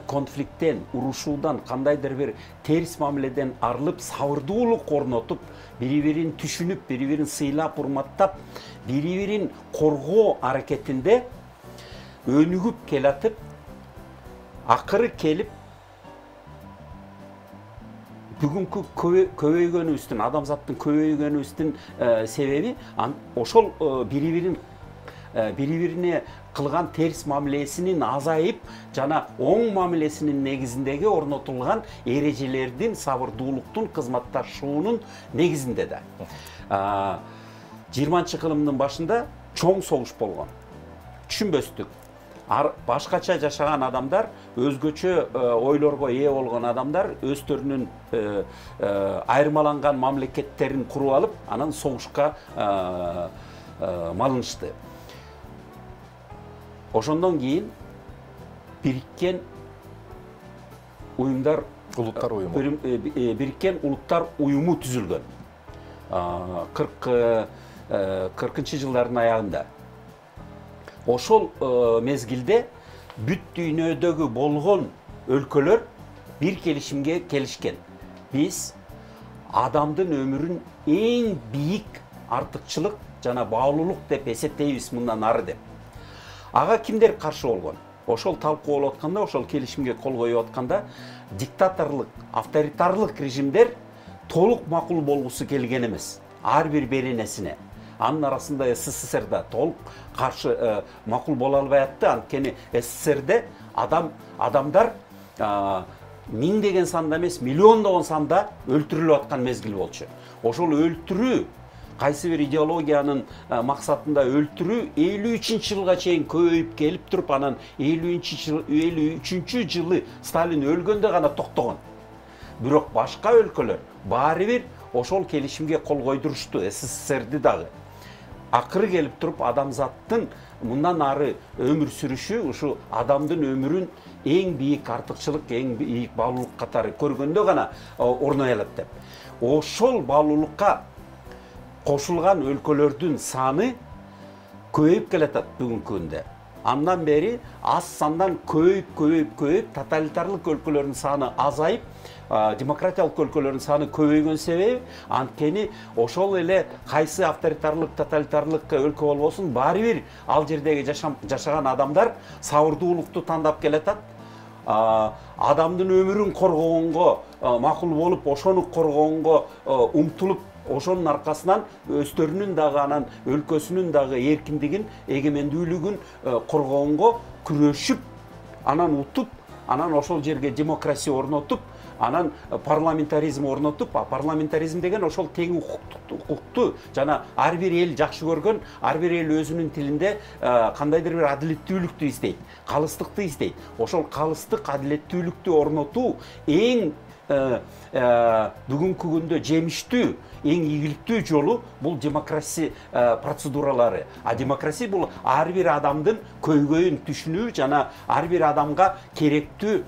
конфликттен, урушуудан, кандайдыр бир терс мамиледен арылып, сабырдуулук орнотуп, бири-бирин түшүнүп, бири-бирин сыйлап, урматтап, бири-бирин коргоо аракетинде өнүгүп келатып, акыры келип бүгүнкү көбөйгөнүбүздүн, адамзаттын көбөйгөнүбүздүн себеби ошол бири-бирине кылган терс мамилесинин азайып жана оң мамилесинин негизиндеги орнотулган эрежелердин, сабырдуулуктун, кызматташуунун негизинде да. 20-кылымдын башында чоң согуш болгон. Түшүнбөстүк. Башкача жашаган адамдар, өзгөчө ойлорго ээ болгон адамдар өздөрүнүн айырмаланган мамлекеттерин куруп алып, анан согушка малынышты. Ошондон кийин Бириккен Улуттар уюму Бириккен Улуттар уюму түзүлгөн. 40-жылдардын аягында. Ошол мезгилде бүт дүйнөдөгү болгон өлкөлөр бир келишимге келишкен. Биз адамдын өмүрүн эң бийик артыкчылык жана баалуулук деп эсептейбиз мындан ары деп. Ага кимдер каршы болгон? Ошол талкуу болуп атканда, ошол келишимге кол коюп атканда, диктаторлук, авторитарлык режимдер толук макул болгусу келген эмес. Ар бир беренесине. Анын арасында СССРда толук каршы макул боло албай атты. Анткени СССРде адамдар миңдеген санда эмес, миллиондогон санда өлтүрүлүп аткан мезгил болчу. Ошол өлтүрүү, кайсы бир идеологиянын максатында өлтүрүү 53-жылга чейин көбөйүп келип туруп, анан 53-жылы Сталин өлгөндө гана токтогон. Бирок башка өлкөлөр баары бир ошол келишимге кол койдурушту, СССРди дагы. Акыры келип туруп адамзаттын мындан ары өмүр сүрүшү ушу адамдын өмүрүн эң бийик артыкчылык, эң бийик баалуулук катары көргөндө гана орной алат деп. Ошол баалуулукка кошулган өлкөлөрдүн саны көбөйүп келатат бүгүнкү күндө. Андан бери аз сандан көбөйүп, тоталитарлык өлкөлөрдүн саны азайып, демократиялык өлкөлөрдүн саны көбөйгөн себеби анткени ошол эле кайсы авторитарлык, тоталитарлык өлкө болбосун, баары бир ал жердеги жашаган адамдар сабырдуулукту тандап келатат. Адамдын өмүрүн коргогонго макул болуп, ошону коргогонго умтулуп, ошонун аркасынан өздөрүнүн дагы анан өлкөсүнүн дагы эркиндигин, эгемендүүлүгүн коргогонго күрөшүп, анан утуп, анан ошол жерге демократия орнотуп, анан парламентаризм орнотуп, парламентаризм деген ошол тең укукту жана ар бир эл жакшы көргөн, ар бир эл өзүнүн тилинде кандайдыр бир адилеттүүлүктү издейт, калыстыкты издейт. Ошол калыстык, адилеттүүлүктү орнотуу эң бүгүнкү күндө жемиштүү, эң ийгиликтүү жолу бул демократия процедуралары. Демократия бул ар бир адамдын көйгөйүн түшүнүү жана ар бир адамга керектүү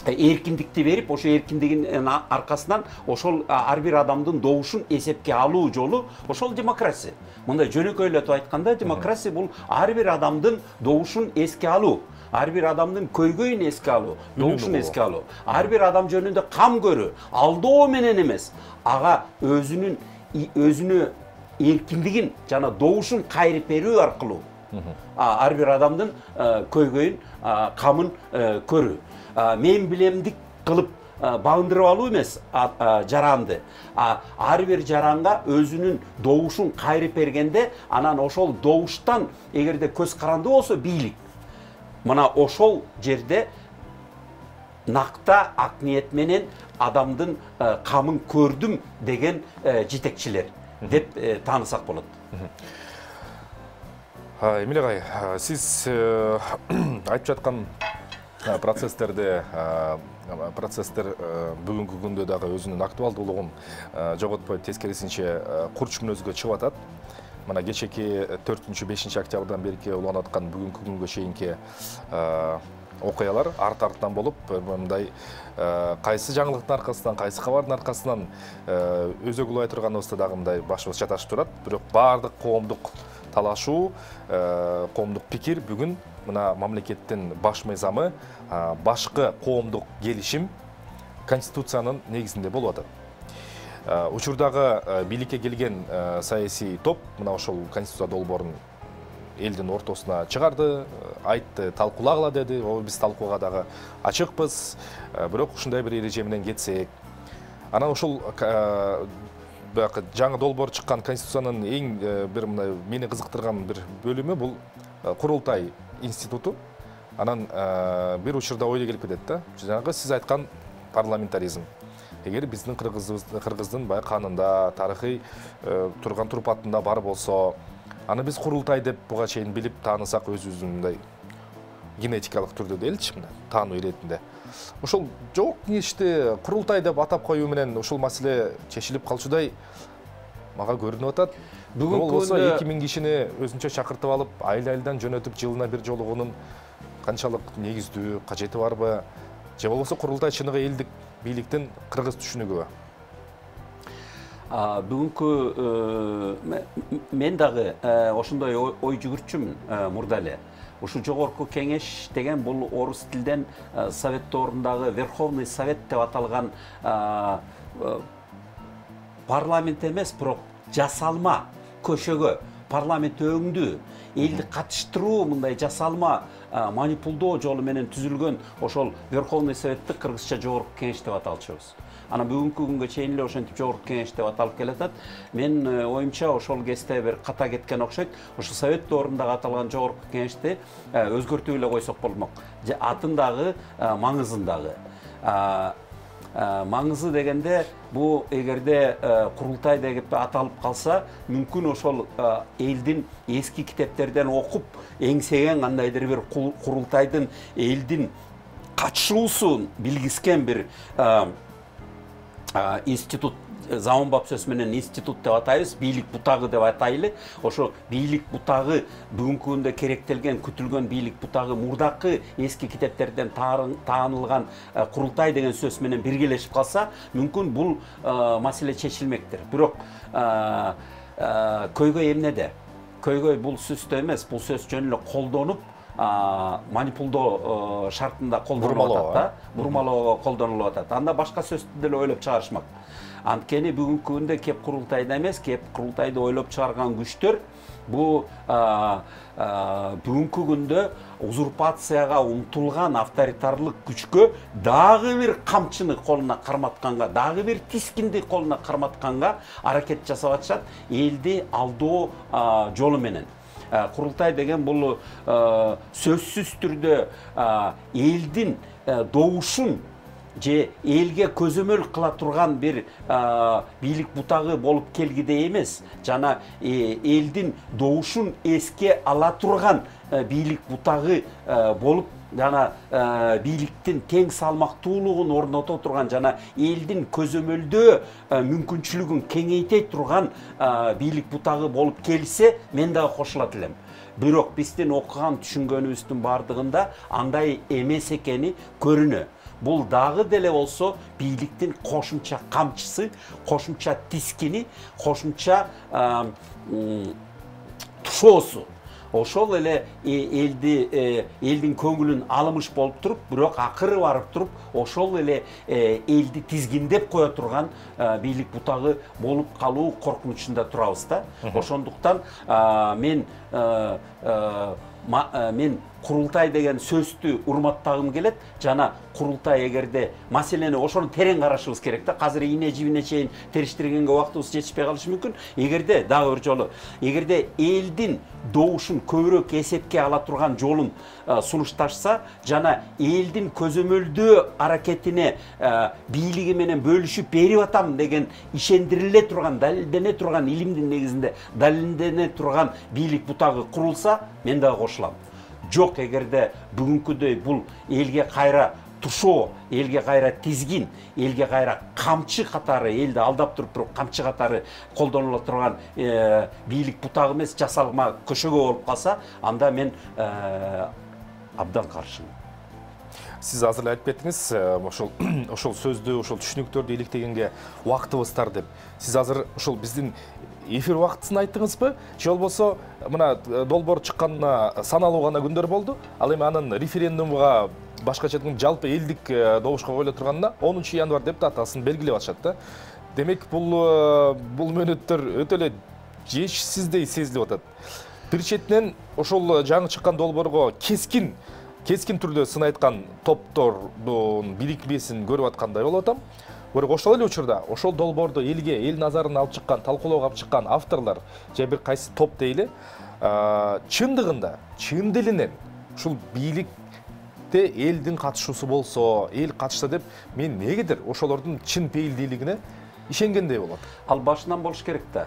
эркиндикти берип, ошо эркиндигинин аркасынан ошол ар бир адамдын добушун эсепке алуу жолу ошол демократия. Мындай жөнөкөйлөтүп айтканда, демократия бул ар бир адамдын добушун эске алуу, ар бир адамдын көйгөйүн эске алуу, добушун эске алуу, ар бир адам жөнүндө кам көрүү, алдоо менен эмес, ага өзүнө эркиндигин жана добушун кайрып берүү аркылуу ар бир адамдын көйгөйүн, камын көрүү. Мен билемдик кылып багындырып алуу эмес жаранды. Ар бир жаранга өзүнүн добушун кайрып бергенде, анан ошол добуштан эгерде көз каранды болсо бийлик. Мына ошол жерде накта ак ниет менен адамдын камын көрдүм деген жетекчилер деп таанысак болот. Эмиле агай, сиз айтып жаткан процесстер бүгүнкү күндө дагы өзүнүн актуалдуулугун жоготпой, тескерисинче курч мүнөзгө чыгып атат. мына кечеки 4-5 октябрдан берки уланып аткан бүгүнкү күнгө чейинки окуялар арт-арттан болуп, мындай кайсы жаңылыктын аркасынан, кайсы кабардын аркасынан өзөгү улай турганыбызда дагы мындай башыбыз чаташып турат. Бирок баардык коомдук талашуу, коомдук пикир бүгүн мына мамлекеттин баш мыйзамы, башкы коомдук келишим Конституциянын негизинде болуп атат. Учурдагы бийликке келген саясий топ мына ошол Конституция долбоорун элдин ортосуна чыгарды, айтты, талкуулагыла деди. Биз талкууга дагы ачыкпыз. Бирок ушундай бир эреже менен кетсек, анан ошол жаңы долбоор чыккан Конституциянын эң бир мындай мени кызыктырган бир бөлүмү бул курултай институту. Анан бир учурда ойдо келип кетет да. Жанагы сиз айткан парламентаризм. Эгер биздин кыргыздын баягы канында, тарыхый турган турпатында бар болсо, аны биз курултай деп буга чейин билип таанысак, өзүбүздүн мындай генетикалык түрдө делчи, мына таануу иретинде. Ошол жок кеңешти курултай деп атап коюу менен ушул маселе чечилип калчудай мага көрүнүп атат. Бүгүн болсо 2000 кишини өзүнчө чакыртып алып, айыл-айылдан жөнөтүп жылына бир жолугунун канчалык негиздүү, кажети барбы? Же болбосо курултай чыныгы элдик бийликтин кыргыз түшүнүгүбү? Бүгүнкү мен дагы ошондой ой жүгүртчүмүн мурда эле. Ушу жогорку кеңеш деген бул орус тилден совет доорундагы Верховный Совет деп аталган парламент эмес, бирок жасалма көшөгө парламент өңдүү, элди катыштыруу мындай жасалма манипулдоо жолу менен түзүлгөн ошол Верховный Советти кыргызча жогорку кеңеш деп аталчубуз. Ана бүгүнкү күнгө чейин эле ошентип жогорку кеңеш деп аталып келатат. Мен оюмча ошол кезде бир ката кеткен окшойт. Ошол Совет доорундагы аталган жогорку кеңешти өзгөртүп эле койсок болмок. Атындагы, маңызындагы. Маңызы дегенде бу эгерде курултай деп аталып калса, мүмкүн ошол элдин эски китептерден окуп эңсеген кандайдыр бир курултайдын элдин катышуусун билгискен бир институт, заманбап сөз менен институт деп атайбыз, бийлик бутагы деп атайлы. Ошо бийлик бутагы бүгүнкү күндө керектелген, күтүлгөн бийлик бутагы мурдакы эски китептерден таанылган курултай деген сөз менен биргелешип калса, мүмкүн бул маселе чечилмектир. Бирок көйгөй эмнеде? Көйгөй бул сөздө эмес, бул сөз жөн эле колдонуп, манипулдоо шартында колдонулуп атат да, бурмалоого колдонулуп атат. Анда башка сөздү деле ойлоп чыгарышмак. Анткени бүгүнкү күндө кеп курултайда эмес, кеп курултайды ойлоп чыгарган күчтөр бул бүгүнкү күндө узурпацияга умтулган авторитарлык күчкө дагы бир камчыны колуна карматканга, дагы бир тискинди колуна карматканга аракет жасап атышат, элди алдоо жолу менен. Курултай деген бул сөзсүз түрдө элдин добушун же элге көзөмөл кыла турган бир бийлик бутагы болуп келгидей эмес, жана элдин добушун эске ала турган бийлик бутагы болуп, жана бийликтин тең салмактуулугун орното турган, жана элдин көзөмөлдөө мүмкүнчүлүгүн кеңейте турган бийлик бутагы болуп келсе, мен дагы кошулат элем. Бирок биздин окуган түшүнгөнүбүздүн бардыгында андай эмес экени көрүнө. Бул дагы деле болсо бийликтин кошумча камчысы, кошумча тискини, кошумча тушоосу. Ошол эле элдин көңүлүн алымыш болуп туруп, бирок акыры барып туруп, ошол эле элди тизгиндеп кое турган бийлик бутагы болуп калуу коркунучунда турабыз да. Ошондуктан мен курултай деген сөздү урматтагым келет, жана курултай эгерде маселени ошону терең карашыбыз керек да. Азыр ийне жибине чейин териштиргенге убактыбыз жетишпей калышы мүмкүн. Эгерде дагы бир жолу, эгерде элдин добушун көбүрөөк эсепке ала турган жолун сунушташса, жана элдин көзөмөлдөө аракетине бийлиги менен бөлүшүп берип атам деген ишендириле турган, далилдене турган, илимдин негизинде далилдене турган бийлик бутагы курулса, мен дагы кошулам. Жок, эгерде бүгүнкүдөй бул элге кайра тушоо, элге кайра тизгин, элге кайра камчы катары, элди алдап туруп камчы катары колдонула турган бийлик бутак эмес жасалма көшөгө болуп калса, анда мен абдан каршымын. Сиз азыр эле айтып кеттиңиз, ошол сөздү, ошол түшүнүктөрдү иликтегенге убактыбыз тар деп. Сиз азыр ошол биздин эфир убактысын айттыңызбы? Же болбосо мына долбоор чыкканына саналуу гана күндөр болду. Ал эми анын референдумга башкача айтканда жалпы элдик добушка коюла турганына 10 январь деп датасын белгилеп атышат да. Демек бул мөөнөттөр өтө эле жешсиздей сезилип атат. Бир четинен ошол жаңы чыккан долбоорго кескин түрдө сын айткан топтордун бирикмесин көрүп аткандай болуп атам. Бирок ошол эле учурда ошол долбоорду эл назарына алып чыккан, талкуулоого алып чыккан авторлор же бир кайсы топ дейли, чындыгында, чын делинен ушул бийликте элдин катышуусу болсо, эл катышса деп мен эмнегедир ошолордун чын пейилдүүлүгүнө ишенгендей болот. Ал башынан болуш керек да.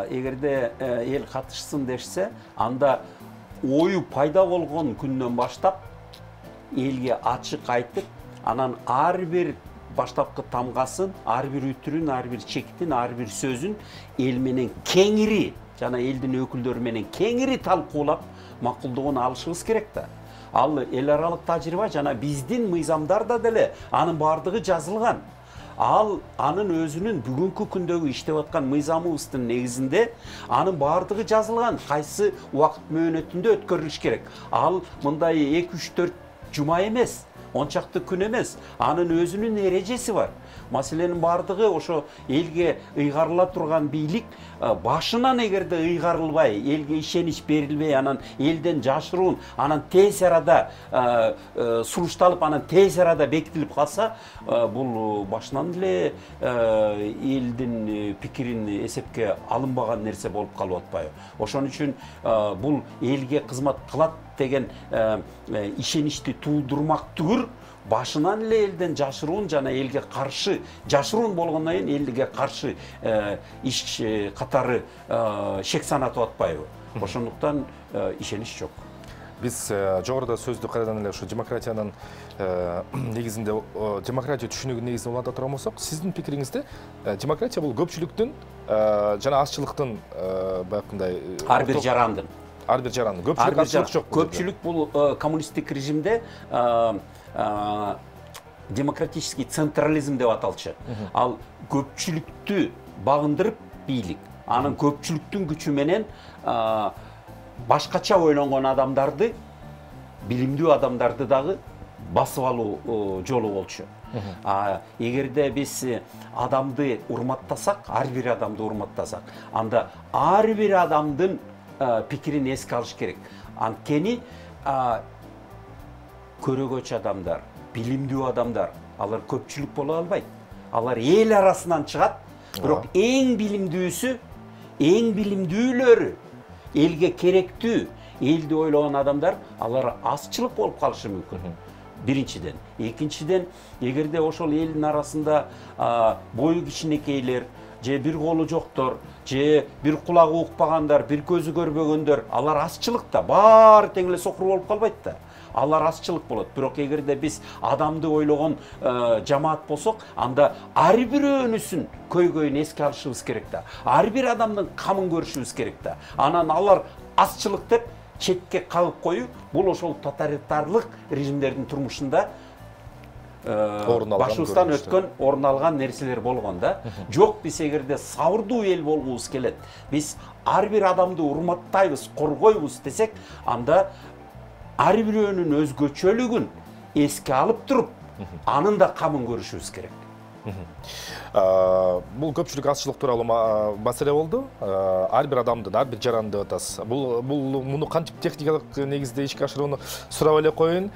Эгерде эл катышсын дешсе, анда ою пайда болгон күндөн баштап элге ачык айтып, анан ар бир баштапкы тамгасын, ар бир үтүрүн, ар бир чектин, ар бир сөзүн эл менен кеңири жана элдин өкүлдөрү менен кеңири талкуулап макулдугун алышыбыз керек да. Ал эл аралык тажрыйба жана биздин мыйзамдарда деле анын бардыгы жазылган. Ал анын өзүнүн бүгүнкү күндөгү иштеп аткан мыйзамыбыздын негизинде анын бардыгы жазылган, кайсы убакыт мөөнөтүндө өткөрүлүш керек. Ал мындай 2-3-4 жума эмес, ончакты күн эмес, анын өзүнүн эрежеси бар. Маселенин бардыгы ошо элге ыйгарыла турган бийлик башынан эгерде ыйгарылбай, элге ишенич берилбей, анан элден жашыруун, анан тез арада сунушталып, анан тез арада бекитилип калса, бул башынан эле элдин пикирин эсепке алынбаган нерсе болуп калып атпайбы. Ошон үчүн бул элге кызмат кылат деген ишеничти туудурмак түгүл, башынан эле элден жашыруун жана элге каршы жашыруун болгондон кийин элге каршы иш катары шек санатып атпайбы. Ошондуктан ишенич жок. Биз жогоруда сөздү кайрадан эле ушу демократиянын негизинде, демократия түшүнүгүнүн негизинде уланта турган болсок, сиздин пикириңизде демократия бул көпчүлүктүн жана азчылыктын баягындай ар бир жарандын көпчүлүк азчылык жок. Көпчүлүк бул коммунисттик режимде демократический централизм деп аталчу. Ал көпчүлүктү багындырып бийлик, анын көпчүлүктүн күчү менен башкача ойлонгон адамдарды, билимдүү адамдарды дагы басып алуу жолу болчу. Эгерде биз адамды урматтасак, ар бир адамды урматтасак, анда ар бир адамдын пикирин эске алыш керек. Анткени көрөгөч адамдар, билимдүү адамдар, алар көпчүлүк боло албайт. Алар эл арасынан чыгат, бирок эң билимдүүлөрү, элге керектүү, элди ойлогон адамдар, алар азчылык болуп калышы мүмкүн. Биринчиден. Экинчиден, эгерде ошол элдин арасында бою кичинекейлер, же бир колу жоктор, же бир кулагы укпагандар, бир көзү көрбөгөндөр, алар азчылыкта, баары тең эле сокур болуп калбайт да. Алар азчылык болот. Бирок эгерде биз адамды ойлогон жамаат болсок, анда ар бирөөнүсүн көйгөйүн эске алышыбыз керек да. Ар бир адамдын камын көрүшүбүз керек да. Анан алар азчылык деп четке кагып коюу, бул ошол тоталитарлык режимдердин турмушунда башыбыздан өткөн, орун алган нерселер болгон да. Жок, биз эгерде сабырдуу эл болгубуз келет, биз ар бир адамды урматтайбыз, коргойбуз десек, анда ар бирөөнүн өзгөчөлүгүн эске алып туруп, анын да камын көрүшүбүз керек. Бул көпчүлүк азчылык тууралуу маселе болду. Ар бир адамдын, ар бир жаранды деп атасыз. Бул муну кантип техникалык негизде ишке ашырууну сурап эле коеюн.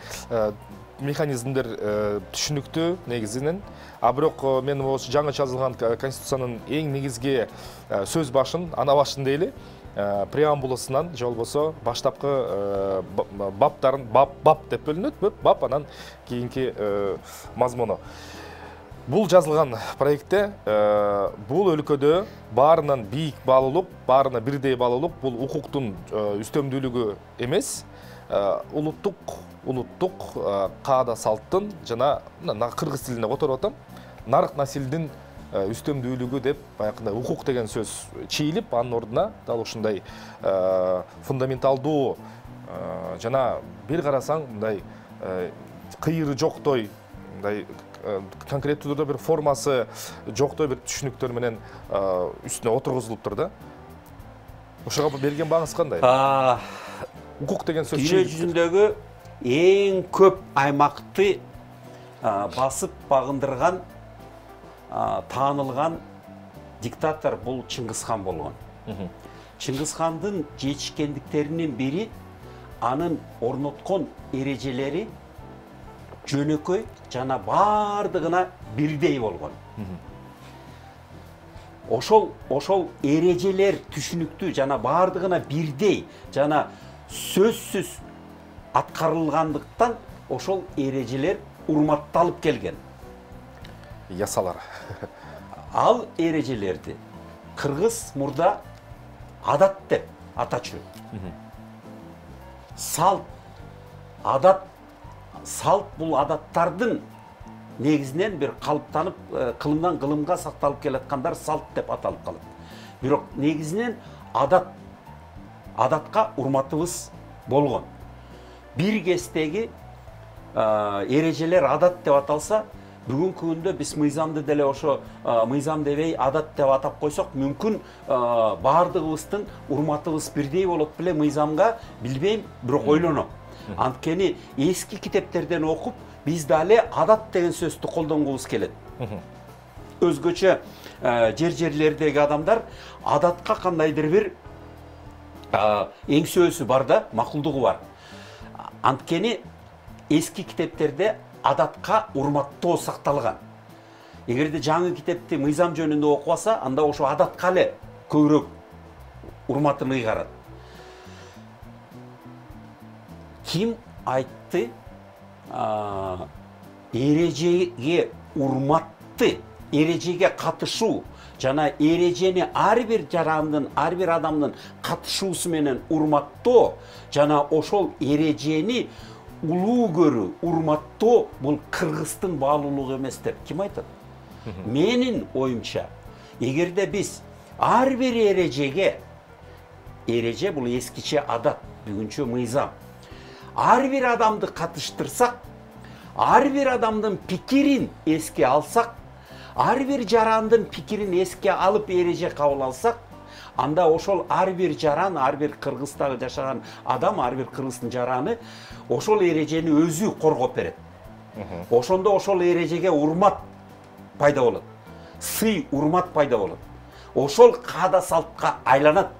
Механизмдер түшүнүктүү негизинен. Бирок мен ошо жаңы жазылган конституциянын эң негизги сөз башын, ана башын дейли, преамбуласынан же болбосо баштапкы баптарын бап деп бөлүнөт, бап анан кийинки мазмуну. Бул жазылган проектте бул өлкөдө баарынан бийик баалуулук, баарына бирдей баалуулук, бул укуктун үстөмдүүлүгү эмес, улуттук каада салттын жана кыргыз тилинде которуп атам, нарк насилдин үстөмдүүлүгү деп баягындай укук деген сөз чийилип, анын ордуна дал ушундай фундаменталдуу жана бир карасаң мындай кыйыры жоктой, мындай конкреттүү түрдө бир формасы жоктой бир түшүнүктөр менен үстүнө отургузулуптур да. Ошого берген бааңыз кандай? Укук деген сөз дүйнө жүзүндөгү эң көп аймакты басып багындырган, таанылган диктатор бул Чыңгызхан болгон. Чыңгызхандын жетишкендиктеринин бири анын орноткон эрежелери жөнөкөй жана бардыгына бирдей болгон. Ошол эрежелер түшүнүктүү жана бардыгына бирдей жана сөзсүз аткарылгандыктан ошол эрежелер урматталып келген. Ясалар. Ал эрежелерди кыргыз мурда адат деп атачу. Салт, адат, салт бул адаттардын негизинен бир калыптанып, кылымдан кылымга сакталып келаткандар салт деп аталып калат. Бирок негизинен адатка урматыбыз болгон. Бир кездеги эрежелер адат деп аталса, бүгүнкү күндө биз мыйзамды деле ошо мыйзам дебей адат деп атап койсок, мүмкүн бардыгыбыздын урматыбыз бирдей болот беле мыйзамга, билбейм, бирок ойлоном. Анткени эски китептерден окуп, биз дали адат деген сөздү колдонгубуз келет. Өзгөчө жерлердеги адамдар адатка кандайдыр бир эңсөөсү бар да, макулдугу бар. Анткени эски китептерде адатка урматтоо сакталган. Эгерде жаңы китепти мыйзам жөнүндө окубаса, анда ошо адатка эле көбүрөөк урматын ыйгарат. Ким айтты эрежеге урматты, эрежеге катышуу жана эрежени ар бир жарандын, ар бир адамдын катышуусу менен урматтоо жана ошол эрежени улуу көрүү, урматтоо бул кыргыздын баалуулугу эмес деп ким айтат? Менин оюмча, эгерде биз ар бир эреже бул эскиче адат, бүгүнчө мыйзам, ар бир адамды катыштырсак, ар бир адамдын пикирин эске алсак, ар бир жарандын пикирин эске алып эреже кабыл алсак, анда ошол ар бир жаран, ар бир Кыргыздагы жашаган адам, ар бир кыргыздын жараны ошол эрежени өзү коргоп берет. Ошондо ошол эрежеге урмат пайда болот. Сый, урмат пайда болот. Ошол каада салтка айланат.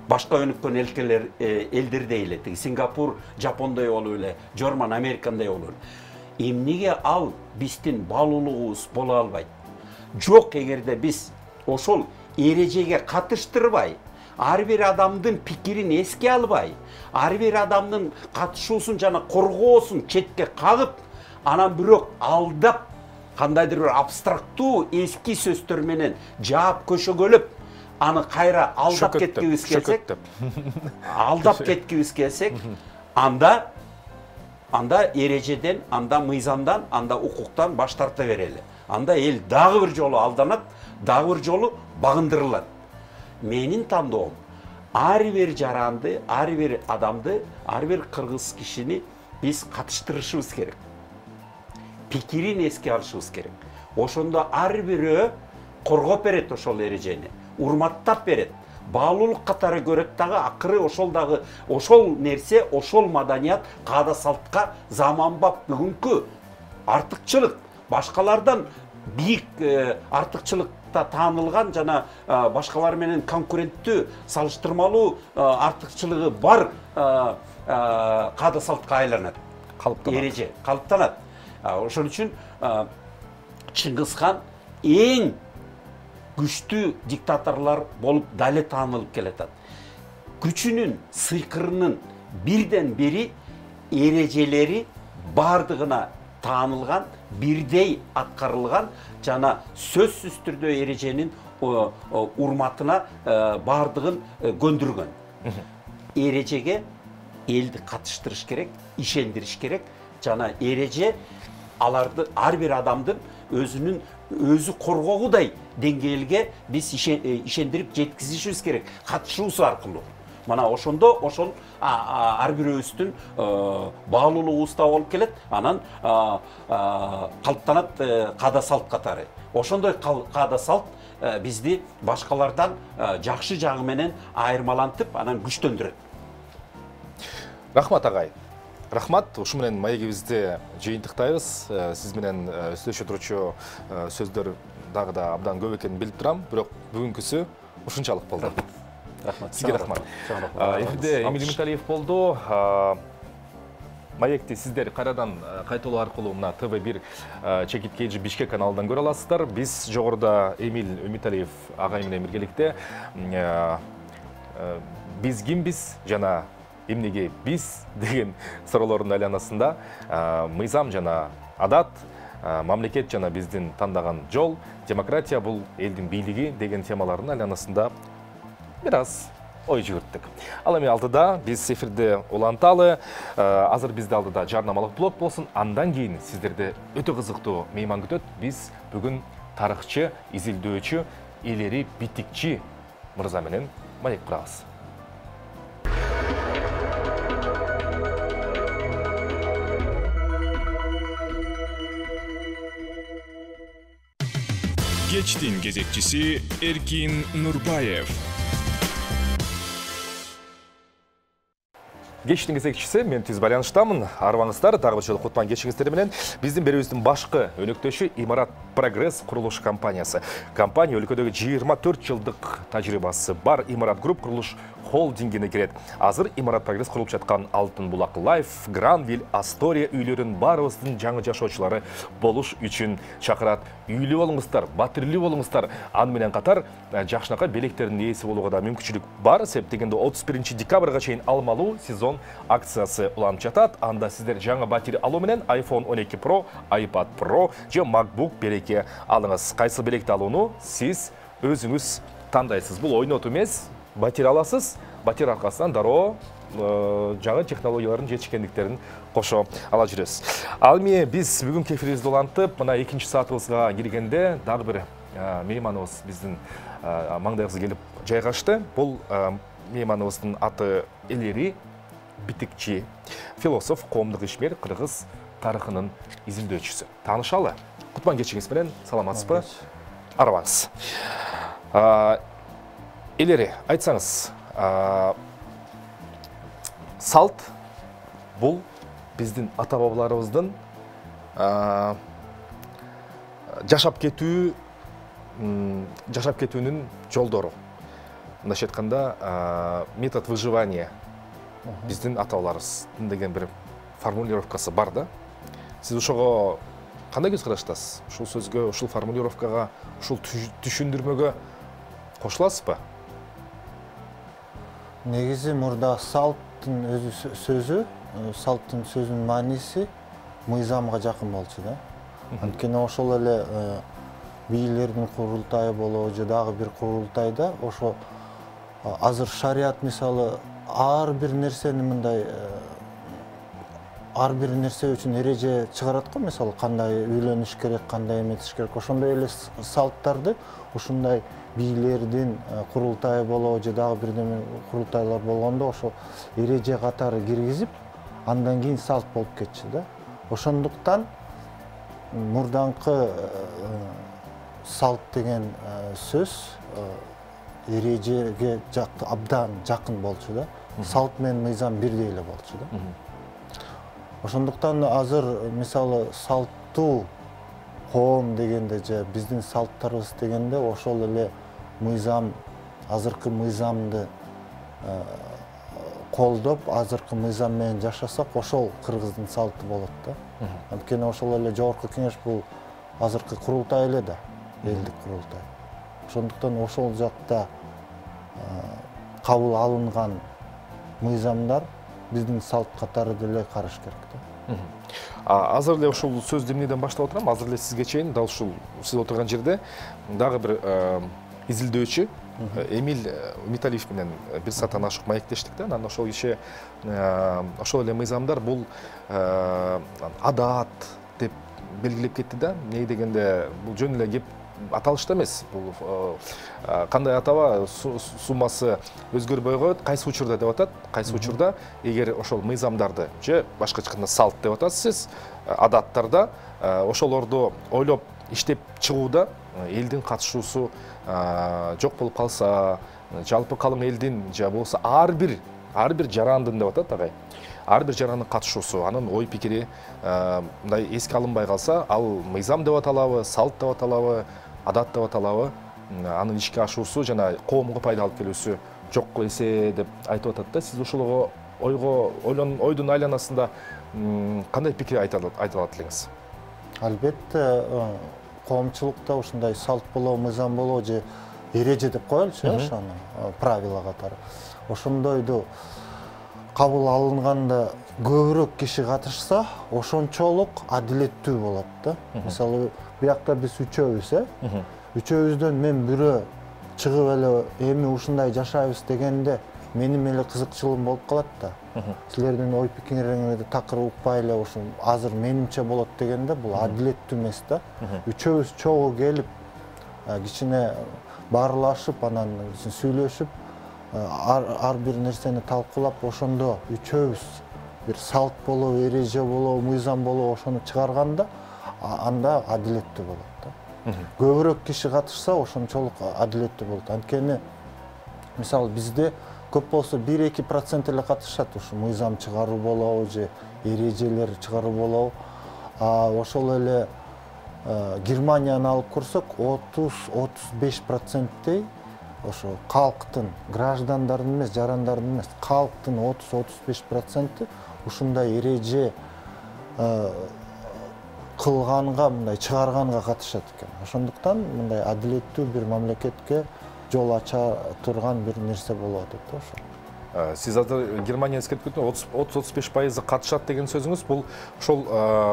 Башка өнүккөн элдердей эле, Сингапур, Жапондой болуп эле, Жорман, Американдай болуп эле. Эмнеге ал биздин баалуулугубуз боло албайт? Жок, эгерде биз ошол эрежеге катыштырбай, ар бир адамдын пикирин эске албай, ар бир адамдын катышуусун жана коргоосун четке кагып, анан бирок алдап, кандайдыр бир абстрактуу эски сөздөр менен жаап көшөгөлөп, аны кайра алдап кеткибиз келсек, анда эрежеден, анда мыйзамдан, анда укуктан баш тарта берели. Анда эл дагы бир жолу алданат, дагы бир жолу багындырылат. Менин тандоом, ар бир жаранды, ар бир адамды, ар бир кыргыз кишини биз катыштырышыбыз керек. Пикирин эске алышыбыз керек. Ошондо ар бирөө коргоп берет ошол эрежени, урматтап берет. Баалуулук катары көрөт дагы, акыры ошол нерсе, ошол маданият каада салтка заманбап бүгүнкү артыкчылык, башкалардан бийик артыкчылыкта таанылган жана башкалар менен конкуренттүү, салыштырмалуу артыкчылыгы бар каада салтка айланат. Эреже калыптанат. Ошон үчүн Чыңгызхан эң күчтүү диктаторлор болуп дале таанылып келатат. Күчүнүн, сыйкырынын бирден бири эрежелери бардыгына таанылган, бирдей аткарылган жана сөзсүз түрдө эреженин урматына бардыгын көндүргөн. Эрежеге элди катыштырыш керек, ишендириш керек. Жана эреже аларды ар бир адамдын өзү коргоогудай деңгээлге биз ишендирип жеткизишибиз керек, катышуубуз аркылуу. Мана ошондо ошол ар бирөөбүздүн баалуулугубуз да болуп келет, анан калыптанат каада салт катары. Ошондой каада салт бизди башкалардан жакшы жагы менен айырмалантып, анан күчтөндүрөт. Рахмат агай. Рахмат, ушу менен маегибизди жыйынтыктайбыз. Сиз менен сүйлөшө турчу сөздөр дагы да абдан көп экенин билип турам, бирок бүгүнкүсү ушунчалык болду. Рахмат. Сизге рахмат. Эфирде Эмиль Үмүталиев болду. Маекти сиздер кайрадан кайталоо аркылуу мына ТВ1 Чекит Кейджи Бишкек каналынан көрө аласыздар. Биз жогоруда Эмиль Үмүталиев агай менен биргеликте биз кимбиз жана эмнеге биз деген суроолордун айланасында мыйзам жана адат, мамлекет жана биздин тандаган жол, демократия бул элдин бийлиги деген темалардын айланасында бир аз ой жүгүрттүк. Ал эми алдыда биз эфирде уланталы. Азыр бизде алдыда жарнамалык блок болсун. Андан кийин сиздерде өтө кызыктуу мейман күтөт. Биз бүгүн тарыхчы, изилдөөчү, илери битикчи мырза менен маек курабыз. Кечтин кезекчиси Эркин Нурбаев. Кечтин кезекчиси, мен түз байланыштамын. Арыбаңыздар, дагы бир жолу кутман кечиңиздер менен. Биздин берүүбүздүн башкы өнөктөшү Имарат Прогресс курулуш компаниясы. Компания өлкөдөгү 24 жылдык тажрыйбасы бар Имарат Групп курулуш холдингине кирет. Азыр Имарат Прогресс курулуп жаткан Алтын Булак Лайф, Гранвиль, Астория үйлөрүн баарыбыздын жаңы жашоочулары болуш үчүн чакырат. Үйлүү болуңуздар, батирлүү болуңуздар. Аны менен катар жакшынакай белектердин ээси болууга да мүмкүнчүлүк бар. Себеп дегенде 31 декабрга чейин алмалуу сезон акциясы уланып жатат. Анда сиздер жаңы батири алуу менен iPhone 12 Pro, iPad Pro же MacBook белекке алыңыз. Кайсы белекти алууну сиз өзүңүз тандайсыз. Бул ойнотуу эмес. Батир аласыз, батир аркасынан дароо жаңы технологиялардын жетишкендиктерин кошо ала жүрөсүз. Ал эми биз бүгүнкү эфирибизди улантып, мына 2-чи саатыбызга киргенде дагы бир мейманыбыз биздин маңдайыбызга келип жайгашты. Бул мейманыбыздын аты илери битикчи, философ, коомдук ишмер, кыргыз тарыхынын изилдөөчүсү. Таанышалы. Кутман кечиңиз менен, саламатсызбы? Арыбаңыз. Илери, айтсаңыз, салт бул биздин ата-бабаларыбыздын жашап кетүүнүн жолдору. Мындайча айтканда, метод выживания биздин ата-бабаларыбыздын деген бир формулировкасы бар да. Сиз ошого кандай көз караштасыз? Ушул сөзгө, ушул формулировкага, ушул түшүндүрмөгө кошуласызбы? Негизи мурда салттын өзү сөзү, салттын сөзүнүн мааниси мыйзамга жакын болчу да. Анткени ошол эле бийлердин курултайы болобу же дагы бир курултайда ошо азыр шарият мисалы ар бир нерсени мындай ар бир нерсе үчүн эреже чыгарат го, мисалы кандай үйлөнүш керек, кандай эметиш керек. Ошондой эле салттарды ушундай бийлердин курултайы болобу же дагы бирдеме курултайлар болгондо ошо эреже катары киргизип, андан кийин салт болуп кетчү да. Ошондуктан мурданкы салт деген сөз эрежеге абдан жакын болчу да. Салт менен мыйзам бирдей эле болчу да. Ошондуктан азыр мисалы салттуу коом дегенде же биздин салттарыбыз дегенде ошол эле мыйзам, азыркы мыйзамды колдоп, азыркы мыйзам менен жашасак, ошол кыргыздын салты болот да. Анткени ошол эле жогорку кеңеш бул азыркы курултай эле да, элдик курултай. Ошондуктан ошол жакта кабыл алынган мыйзамдар биздин салт катары деле караш керек да. Азыр эле ушул сөздү эмнеден баштап отурам? Азыр эле сизге чейин дал ушул сиз отурган жерде дагы бир изилдөөчү Эмиль Металиев менен бир сааттан ашык маектештик да. Анан ошол киши ошол эле мыйзамдар бул адат деп белгилеп кетти да. Эмне дегенде бул жөн эле кеп аталышта эмес. Бул кандай атаба суммасы өзгөрбөй коет, кайсы учурда деп атат. Кайсы учурда эгер ошол мыйзамдарды же башкача айтканда салт деп атасыз, адаттарда ошолорду ойлоп иштеп чыгууда элдин катышуусу жок болуп калса, жалпы калың элдин же болбосо ар бир жарандын деп атат агай. Ар бир жарандын катышуусу, анын ой пикири мындай эске алынбай калса, ал мыйзам деп аталабы, салт деп аталабы, адат деп аталабы, анын ишке ашуусу жана коомго пайда алып келүүсү жок эсе деп айтып атат да. Сиз ушул ойдун айланасында кандай пикир айта алат элеңиз? Албетте, коомчулукта ушундай салт болобу, мыйзам болобу же эреже деп коелучу, ошону правила катары. Ошондойду кабыл алынганда көбүрөөк киши катышса, ошончолук адилеттүү болот да. Мисалы, биякта биз үчөөбүз, үчөөбүздөн мен бирөө чыгып эле эми ушундай жашайбыз дегенде менин эле кызыкчылыгым болуп калат да. Силердин ой пикириңерди такыр укпай эле ушул азыр менимче болот дегенде бул адилеттүү эмес да. Үчөөбүз чогуу келип, кичине баарлашып, анан сүйлөшүп, ар бир нерсени талкуулап, ошондо үчөөбүз бир салт болобу, эреже болобу, мыйзам болобу ошону чыгарганда, анда адилеттүү болот да. Көбүрөөк киши катышса, ошончолук адилеттүү болот. Анткени мисалы бизде көп болсо 1-2% эле катышат, ушу мыйзам чыгаруу болобу же эрежелер чыгаруу болобу. Ошол эле Германияны алып көрсөк, 30-35%-тей ошо калктын, граждандардын эмес, жарандардын эмес, калктын 30-35% ушундай эреже кылганга, мындай чыгарганга катышат экен. Ошондуктан мындай адилеттүү бир мамлекетке жол ача турган бир нерсе болуп атат да ошо. Сиз азыр Германия эскертип кеттиңиз, 30-35% катышат деген сөзүңүз бул ошол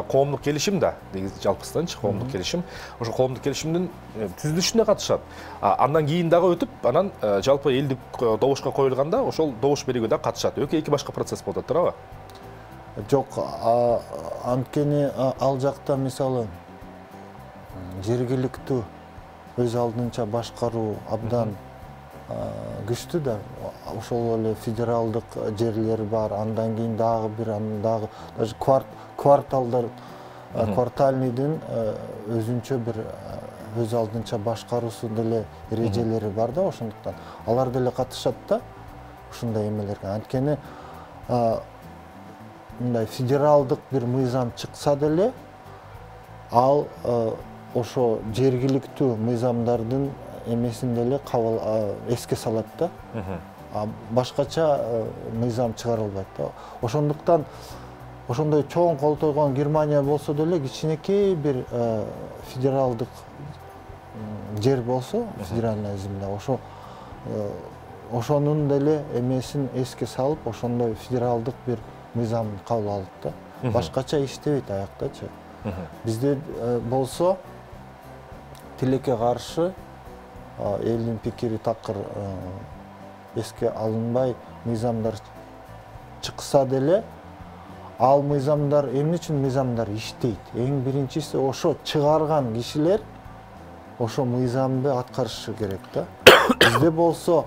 коомдук келишим да, жалпысынчы коомдук келишим. Ошо коомдук келишимдин түзүлүшүнө катышат. Андан кийин дагы өтүп, анан жалпы элдик добушка коюлганда ошол добуш берүүгө да катышат. Эки башка процесс болуп атат, туурабы? Жок, анткени ал жакта мисалы жергиликтүү өз алдынча башкаруу абдан күчтүү да. Ошол эле федералдык жерлер бар, андан кийин дагы бир, андан дагы даже кварталдар, квартальныйдын өзүнчө бир өз алдынча башкаруусу деле эрежелери бар да, ошондуктан алар деле катышат да ушундай эмелерге. Анткени мындай федералдык бир мыйзам чыкса деле, ал ошо жергиликтүү мыйзамдардын эмесин деле кабыл эске салат да. Башкача мыйзам чыгарылбайт да. Ошондуктан ошондой чоң колтойгон Германия болсо деле кичинекей бир федералдык жер болсо, федеральная земля, ошонун деле эмесин эске салып, ошондой федералдык бир мыйзам кабыл алат да. Башкача иштебейт аяктачы. Бизде болсо тилекке каршы элдин пикири такыр эске алынбай мыйзамдар чыкса деле, ал мыйзамдар эмне үчүн мыйзамдар иштейт? Эң биринчиси ошо чыгарган кишилер ошо мыйзамды аткарышы керек да. Бизде болсо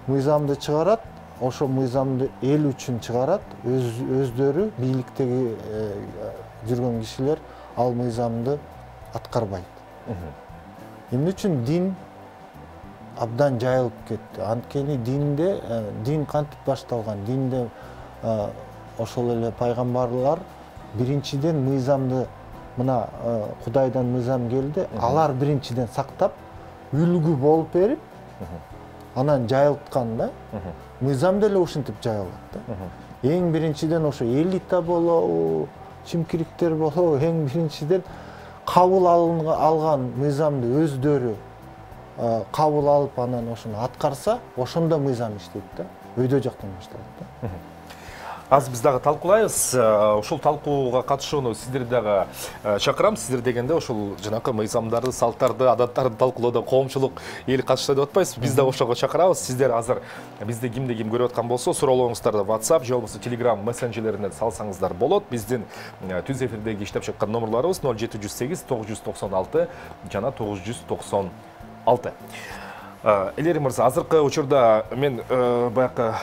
мыйзамды чыгарат, ошо мыйзамды эл үчүн чыгарат, өздөрү бийликтеги жүргөн кишилер ал мыйзамды аткарбайт. Эмне үчүн дин абдан жайылып кетти? Анткени дин кантип башталган? Динде ошол эле пайгамбарлар биринчиден мыйзамды, мына Кудайдан мыйзам келди, алар биринчиден сактап, үлгү болуп берип, анан жайылткан да. Мыйзам деле ушинтип жайылат да. Эң биринчиден ошо элита болобу, чимкириктер болобу, эң биринчиден кабыл алган мыйзамды өздөрү кабыл алып, анан ошону аткарса, ошондо мыйзам иштейт да. Өйдө жактан башталат да. Аз биз дагы талкуулайбыз. Ошол талкууга катышууну сиздерди дагы чакырам. Сиздер дегенде ошол жанакы мыйзамдарды, салттарды, адаттарды талкуулоодо коомчулук эл катышса деп атпайсызбы? Биз дагы ошого чакырабыз. Сиздер азыр бизди кимди ким көрүп аткан болсо, суроолоруңуздарды WhatsApp же болбосо Telegram мессенджерлерине салсаңыздар болот. Биздин түз эфирдеги иштеп чыккан номерларыбыз 0708 996 жана 996. Элери мырза, азыркы учурда мен баягы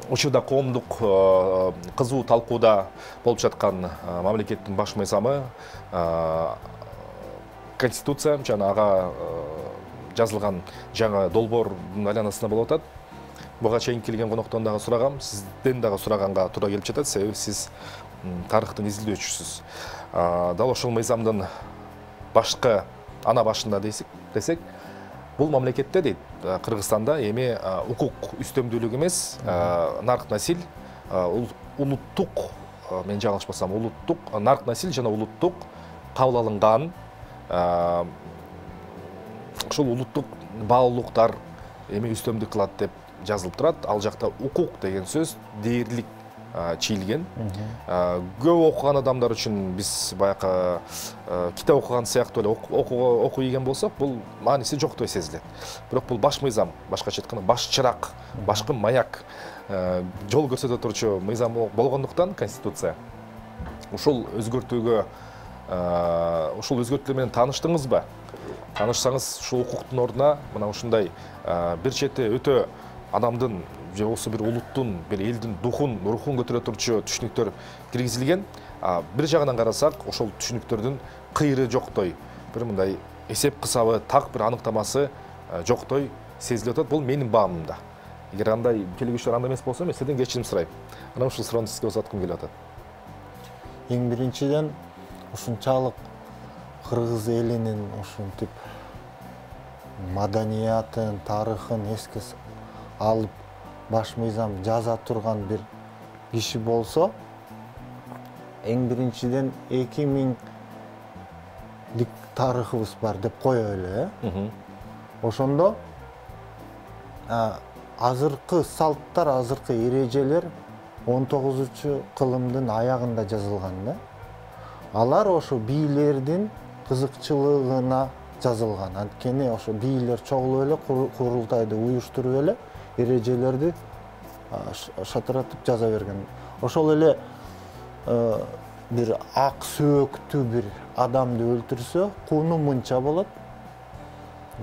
учурда коомдук кызуу талкууда болуп жаткан мамлекеттин баш мыйзамы Конституция жана ага жазылган жаңы долбоордун айланасында болуп атат. Буга чейин келген коноктон дагы сурагам, сизден дагы сураганга туура келип жатат, себеби сиз тарыхтын изилдөөчүсүз. Дал ошол мыйзамдын башкы ана башында десек, бул мамлекетте дейт, Кыргызстанда эми укук үстөмдүүлүк эмес, нарк насил, улуттук, мен жаңылышпасам, улуттук, нарк насил жана улуттук кабыл алынган ошол улуттук баалуулуктар эми үстөмдүк кылат деп жазылып турат. Ал жакта укук деген сөз дээрлик чийилген. Көп окуган адамдар үчүн биз баягы китеп окуган сыяктуу эле окуп ийген болсок, бул мааниси жоктой сезилет. Бирок бул баш мыйзам, башкача айтканда баш чырак, башкы маяк, жол көрсөтө турчу мыйзам болгондуктан Конституция ушул өзгөртүүгө, ушул өзгөртүүлөр менен тааныштыңызбы? Таанышсаңыз, ушул укуктун ордуна мына ушундай бир чети өтө адамдын же болбосо бир улуттун, бир элдин рухун көтөрө турчу түшүнүктөр киргизилген. Бир жагынан карасак, ошол түшүнүктөрдүн кыйры жоктой, бир мындай эсеп кысабы, так бир аныктамасы жоктой сезилип атат. Бул менин баамымда. Эгер андай келгүчүлөр андай эмес болсо, мен сизден кечирим сурайм. Анан ушул суроону сизге узаткым келип атат. Эң биринчиден ушунчалык кыргыз элинин ушинтип маданиятын, тарыхын эске алып баш мыйзам жаза турган бир киши болсо, эң биринчиден 2000 тарыхыбыз бар деп коелу, Ошондо азыркы салттар, азыркы эрежелер 19-кылымдын аягында жазылган да. Алар ошо бийлердин кызыкчылыгына жазылган. Анткени ошо бийлер чогулуп эле курултайды уюштуруп эле эрежелерди шатыратып жаза берген. Ошол эле бир ак сөөктүү бир адамды өлтүрсө, кууну мынча болот.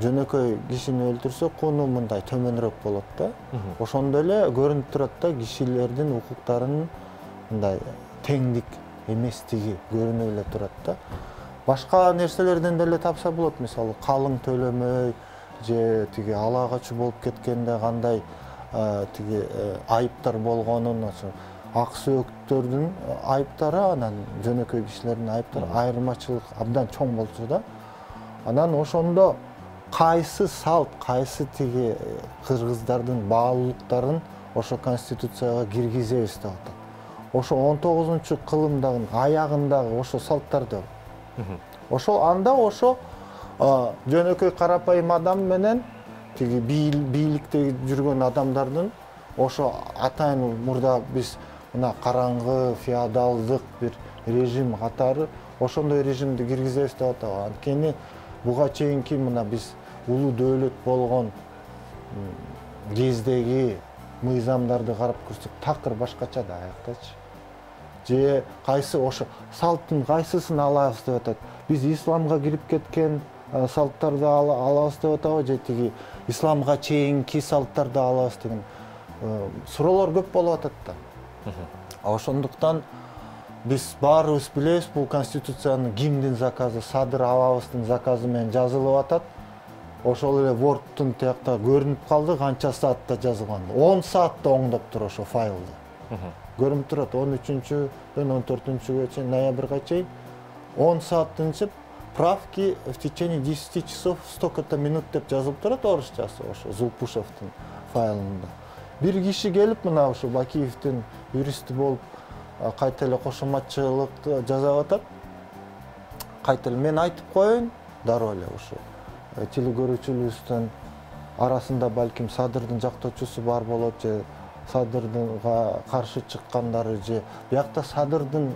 Жөнөкөй кишини өлтүрсө, кууну мындай төмөнүрөөк болот да. Ошондой эле көрүнүп турат да, кишилердин укуктарынын мындай теңдик эместиги көрүнүп эле турат да. Башка нерселерден деле тапса болот, мисалы калың төлөмөй же тиги ала качуу болуп кеткенде кандай тиги айыптар болгонун, ак сөөктөрдүн айыптары анан жөнөкөй кишилердин айыптары айырмачылык абдан чоң болчу да. Анан ошондо кайсы салт, кайсы тиги кыргыздардын баалуулуктарын ошо конституцияга киргизебиз деп атат. Ошо 19-кылымдын аягындагы ошо салттарды. Ошо анда ошо жөнөкөй карапайым адам менен тиги бийликте жүргөн адамдардын ошо атайын мурда биз мына караңгы феодалдык бир режим катары ошондой режимди киргизебиз деп атат. Анткени буга чейинки мына биз улуу дөөлөт болгон кездеги мыйзамдарды карап көрсөк такыр башкача да аяктачы. Же кайсы ошо салттын кайсысын алабыз деп атат. Биз исламга кирип кеткен салттарды алабыз деп атабы же тиги исламга чейинки салттарды алабыз деген суроолор көп болуп атат да. Ошондуктан биз баарыбыз билебиз, бул конституциянын кимдин заказы, Садыр абабыздын заказы менен жазылып атат. Ошол эле Word'тун тиякта көрүнүп калды, канча саатта жазылган. 10 саатта оңдоп тур ошо файлды. Көрүнүп турат 13-дөн 14-гө чейин, ноябрга чейин 10 сааттын ичип правки в течение 10 часов столько-то минут деп жазылып турат орусчасы ошо Зулпушевдин файлында. Бир киши келип мына ошо Бакиевдин юристи болуп кайта эле кошоматчылыкты жазып атат. Кайта эле мен айтып коеюн, дароо эле ошо телегөрүүчүлөрүбүздүн арасында балким Садырдын жактоочусу бар болот же Садырга каршы чыккандары же биякта Садырдын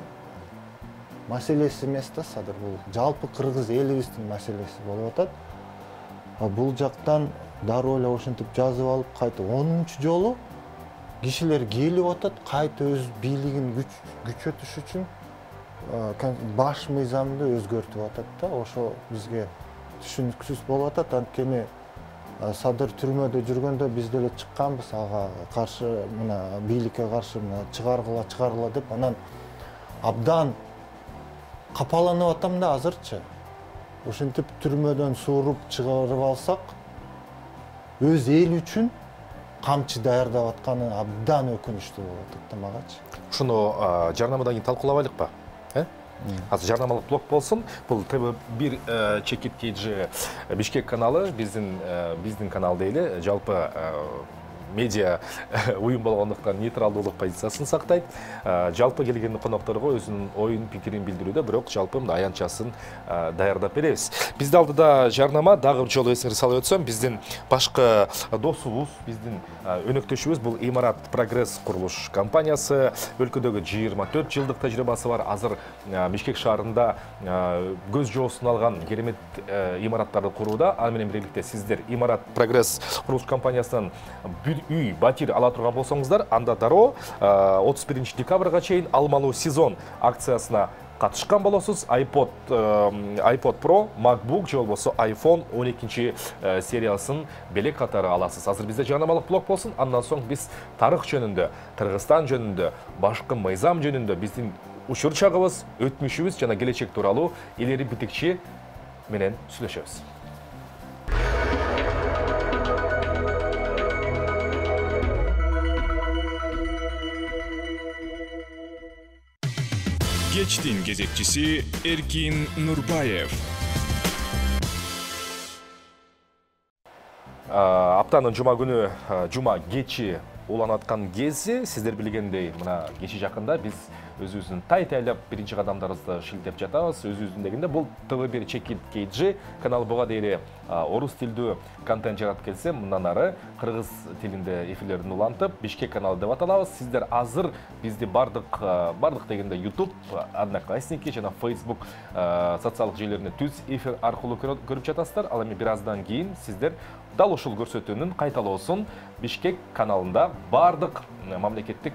маселеси эмес да, Садыр бул жалпы кыргыз элибиздин маселеси болуп атат. Бул жактан дароо эле ошентип жазып алып, кайта 10-чу жолу кишилер келип атат, кайта өз бийлигин күчөтүш үчүн баш мыйзамды өзгөртүп атат да. Ошо бизге түшүнүксүз болуп атат. Анткени Садыр түрмөдө жүргөндө биз деле чыкканбыз ага каршы, мына бийликке каршы чыгаргыла деп, анан абдан капаланып атам да азырчы. Ошентип түрмөдөн сууруп чыгарып алсак, өз эл үчүн камчы даярдап атканы абдан өкүнүчтүү болуп атат да магачы. Ушуну жарнамадан кийин талкуулабайлыкпы? Азыр жарнамалык блок болсун. Бул ТВ1 Чекит KG Бишкек каналы, биздин канал дейли, жалпы медиа уюм болгондуктан нейтралдуулук позициясын сактайт. Жалпы келген конокторго өзүнүн оюн, пикирин билдирүүдө, бирок жалпы мындай аянтчасын даярдап беребиз. Бизде алдыда жарнама, дагы бир жолу эсиңизге салып өтсөм, биздин башкы досубуз, биздин өнөктөшүбүз бул Имарат Прогресс курулуш компаниясы, өлкөдөгү 24 жылдык тажрыйбасы бар. Азыр Бишкек шаарында көз жоосун алган керемет имараттарды курууда. Аны менен биргеликте сиздер Имарат Прогресс курулуш компаниясынан үй, батир ала турган болсоңуздар, анда дароо 31 декабрга чейин алмалуу сезон акциясына катышкан болосуз. iPod Pro, MacBook же болбосо iPhone 12 сериясын белек катары аласыз. Азыр бизде жарнамалык блок болсун, андан соң биз тарых жөнүндө, Кыргызстан жөнүндө, башкы мыйзам жөнүндө биздин учур чагыбыз, өтмүшүбүз жана келечек тууралуу илери битикчи менен сүйлөшөбүз. Кечтин кезекчиси Эркин Нурбаев. Аптанын жума күнү, жума кечи уланып аткан кези, сиздер билгендей, мына кечи жакында биз өзүбүздүн тайтайлап биринчи кадамдарыбызды шилтеп жатабыз. Өзүбүздүн дегенде бул ТВ1 Чекит KG каналы буга дейли орус тилдүү контент жаратып келсе, мындан ары кыргыз тилинде эфирлерин улантып, Бишкек каналы деп аталабыз. Сиздер азыр бизди бардык дегенде YouTube, Одноклассники жана Facebook социалдык желилеринде түз эфир аркылуу көрүп жатасыздар. Ал эми бир аздан кийин сиздер дал ушул көрсөтүүнүн кайталоосун Бишкек каналында бардык мамлекеттик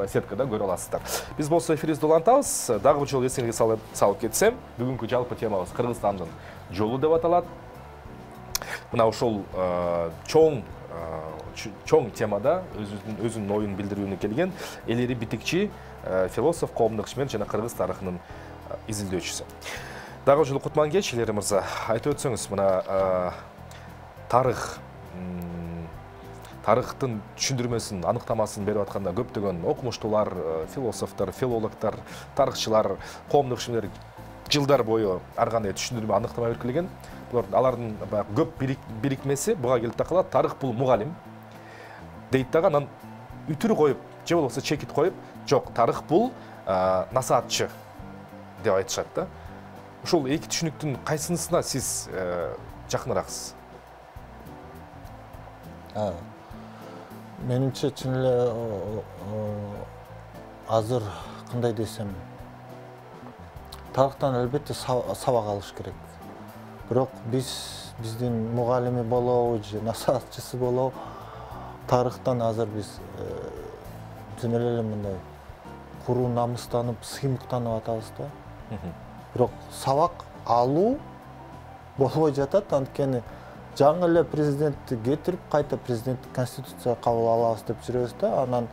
сеткада көрө аласыздар. Биз болсо эфирибизди улантабыз. Дагы бир жолу эсиңизге салып кетсем, бүгүнкү жалпы темабыз Кыргызстандын жолу деп аталат. Мына ушул чоң темада өзүнүн оюн билдирүүнү келген элери битикчи философ, коомдук ишмер жана кыргыз тарыхынын изилдөөчүсү. Дагы жолу кутман кеч, Илери мырза, айтып өтсөңүз, мына тарыхтын түшүндүрмөсүн, аныктамасын берип атканда көптөгөн окумуштуулар, философтор, филологдор, тарыхчылар, коомдук ишмерлер жылдар бою ар кандай түшүндүрмө, аныктама берип келген. Алардын көп бирикмеси буга келип такалат. Тарых бул мугалим дейт дагы, анан үтүр коюп, же болбосо чекит коюп, жок, тарых бул насаатчы деп айтышат да. Ушул эки түшүнүктүн кайсынысына сиз жакынырааксыз? Менимче чын эле азыр кандай десем, тарыхтан албетте сабак алыш керек. Бирок биздин мугалими болобу же насаатчысы болобу, тарыхтан азыр биз чын эле мындай куру намыстанып, сыймыктанып атабыз да. Бирок сабак алуу болбой жатат, анткени жаңы эле президентти кетирип, кайта президенттик конституция кабыл алабыз деп жүрөбүз да. Анан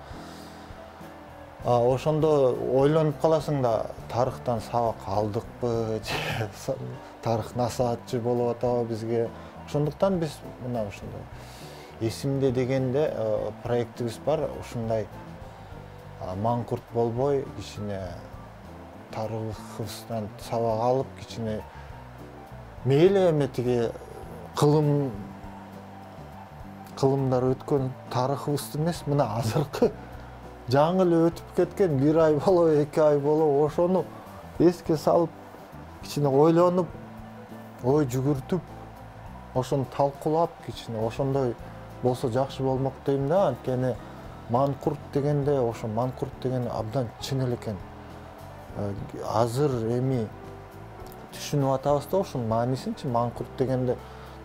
ошондо ойлонуп каласың да, тарыхтан сабак алдыкпы, же тарых насаатчы болуп атабы бизге. Ошондуктан биз мына ушундай эсимде дегенде проектибиз бар. Ушундай маңкурт болбой, кичине тарыхыбыздан сабак алып, кичине мейли эме тиги кылымдар өткөн тарыхыбызды эмес, мына азыркы жаңы эле өтүп кеткен 1 ай болобу, 2 ай болобу, ошону эске салып, кичине ойлонуп, ой жүгүртүп, ошону талкуулап, кичине ошондой болсо жакшы болмок дейм да. Анткени манкурт дегенде ошо манкурт деген абдан чын эле экен. Азыр эми түшүнүп атабыз да ошонун маанисинчи. Манкурт дегенде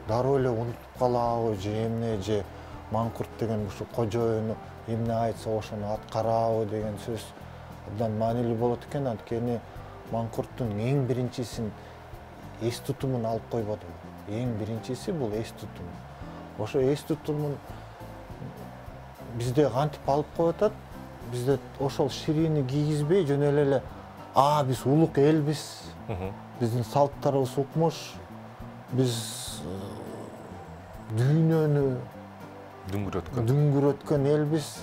дароо эле унутуп калабы же эмне, же манкурт деген ушу кожоюну эмне айтса ошону аткарабы деген сөз абдан маанилүү болот экен. Анткени манкурттун эң биринчисин эс тутумун алып койбодум. Эң биринчиси бул эс тутум. Ошо эс тутумун бизде кантип алып коюп атат? Бизде ошол ширини кийгизбей жөн эле биз улук элбиз. Биздин салттарыбыз укмуш. Биз дүйнөнү дүңгүрөткөн элбиз.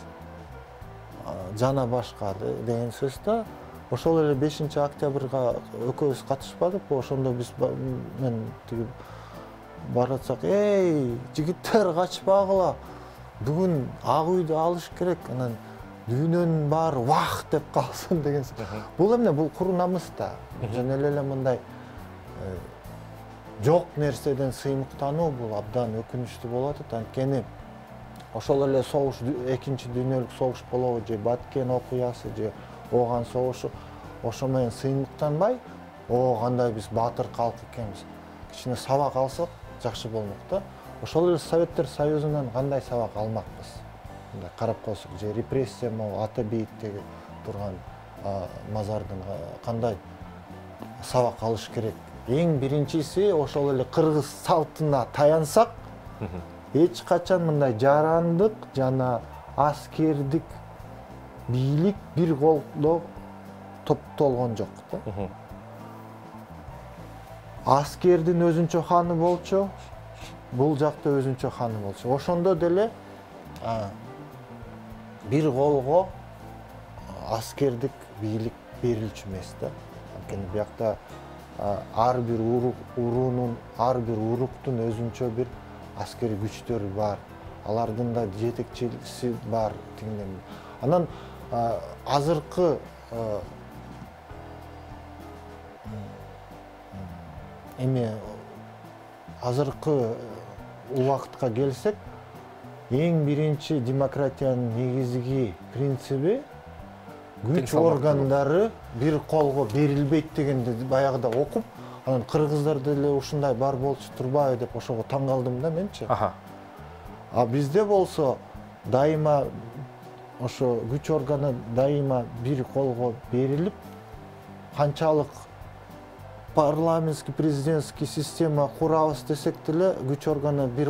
Жана башка деген сөз да. Ошол эле 5-октябрга экөөбүз катышпадыкпы? Ошондо биз мен тиги баратсак, жигиттер качпагыла. Бүгүн ак үйдү алыш керек. Анан дүйнөнүн баары вах деп калсын деген. Бул эмне? Бул куру намыс да. Жөн эле мындай жок нерседен сыймыктануу бул абдан өкүнүчтүү болот. Анткени ошол эле согуш, экинчи дүйнөлүк согуш болобу же Баткен окуясы же ооган согушу ошо менен сыймыктанбай, кандай биз баатыр калк экенбиз. Кичине сабак алсак жакшы болмок да. Ошол эле Советтер Союзунан кандай сабак алмакпыз? Мындай карап койсок, же репрессия могу ата бейиттеги турган мазардан кандай сабак алыш керек? Эң биринчиси ошол эле кыргыз салтына таянсак, эч качан мындай жарандык жана аскердик бийлик бир колдо топтолгон жок да. Аскердин өзүнчө ханы болчу, бул жакта өзүнчө ханы болчу. Ошондо деле бир колго аскердик бийлик берилчү эмес да. Анткени биякта ар бир уруунун, ар бир уруктун өзүнчө бир аскерий күчтөрү бар. Алардын да жетекчиси бар тигинден. Анан азыркы азыркы убакытка келсек, эң биринчи демократиянын негизги принциби күч органдары бир колго берилбейт дегенди баягыда окуп, анан кыргыздарда эле ушундай бар болчу турбайбы деп ошого таң калдым да менчи. Бизде болсо дайыма ошо күч органы дайыма бир колго берилип, канчалык парламентский президентский система курабыз десек деле күч органы бир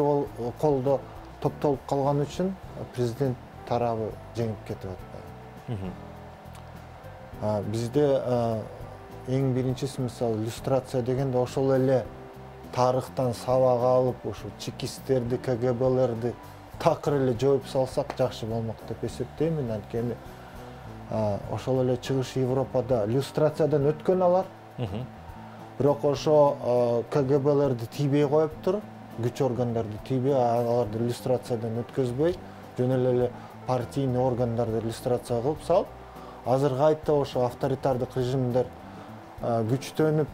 колдо топтолуп калган үчүн президент тарабы жеңип кетип атпайбы. Бизде эң биринчиси мисалы иллюстрация дегенде ошол эле тарыхтан сабак алып, ушу чекисттерди, КГБлерди такыр эле жоюп салсак жакшы болмок деп эсептеймин. Анткени ошол эле Чыгыш Европада иллюстрациядан өткөн алар. Бирок ошо КГБлерди тийбей коюптур, күч органдарды тийбей, аларды иллюстрациядан өткөзбөй, жөн эле партийный органдарды иллюстрация кылып салып, азыр кайта ошо авторитардык режимдер күчтөнүп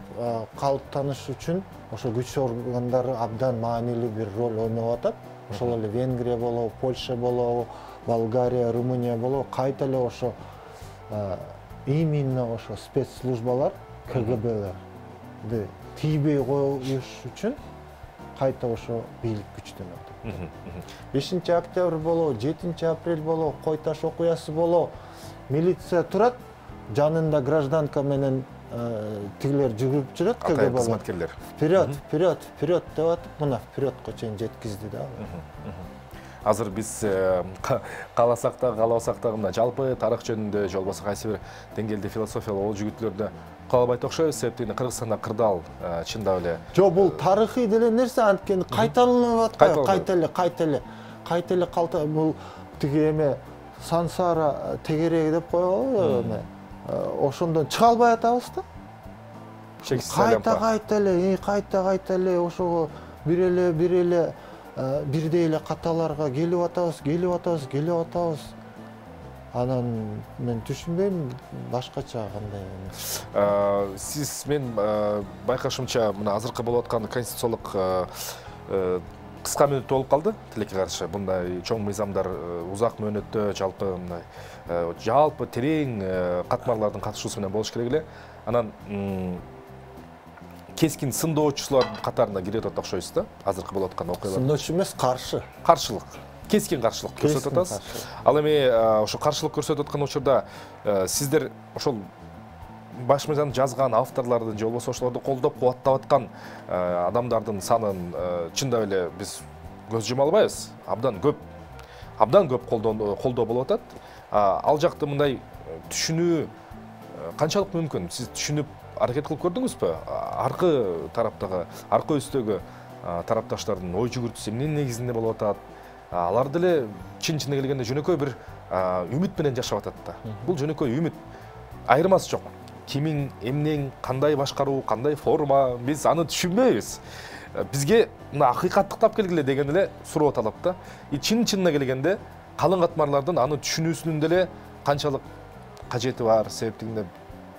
калыптаныш үчүн ошо күч органдары абдан маанилүү бир роль ойноп атат. Ошол эле Венгрия болобу, Польша болобу, Болгария, Румыния болобу, кайта эле ошо именно ошо спецслужбалар, КГБлерди тийбей коюш үчүн кайта ошо бийлик күчтөнөт. 5-октябрь болобу, 7-апрель болобу, Кой таш окуясы болобу, милиция турат, жанында гражданка менен тигилер жүгүрүп жүрөт, КГБ кызматкерлер. Вперед, вперед, вперед деп атып, мына впередко чейин жеткизди да. Азыр биз кааласак да, каалабасак да мына жалпы тарых жөнүндө же болбосо кайсы бир деңгээлде философиялык ол жигитлерди каалабайт окшойбуз. Себептен Кыргызстанда кырдаал чындап эле. Жок, бул тарыхый деле нерсе, анткени кайталанып атпайбы, кайта эле бул тиги эме сансара тегереги деп коебу эме. Ошондон чыга албай атабыз да. Кайта эле ошого бир эле бирдей эле каталарга келип атабыз. Анан мен түшүнбөйм башкача кандай эмес. Сиз мен байкашымча мына азыркы болуп аткан конституциялык кыска мөөнөттө болуп калды тилекке каршы. Мындай чоң мыйзамдар узак мөөнөттө жалпы терең катмарлардын катышуусу менен болуш керек эле. Анан кескин сындоочулар катарына кире атат окшойсуз да, азыркы болуп аткан окуялар. Сындоочу эмес, Каршылык. Кескин каршылык көрсөтүп атасыз. Ал эми ошо каршылык көрсөтүп аткан учурда сиздер ошол баш мыйзамды жазган авторлордун же болбосо ошолорду колдоп кубаттап аткан адамдардын санын чындап эле биз көз жума албайбыз. Абдан көп колдоо болуп атат. Ал жакты мындай түшүнүү канчалык мүмкүн? Сиз түшүнүп аракет кылып көрдүңүзбү? Аркы тараптагы, аркы үстөгү тарапташтардын ой жүгүртүүсү эмненин негизинде болуп атат? Алар деле чын-чынына келгенде жөнөкөй бир үмүт менен жашап атат да. Бул жөнөкөй үмүт. Айырмасы жок. Кимин, эмнең, кандай башкаруу, кандай форма, биз аны түшүнбөйбүз. Бизге мына акыйкатты тап келгиле деген эле суроо талап да. Чын-чынына келгенде калың катмарлардын аны түшүнүүсүнүн деле канчалык кажети бар, себептигинде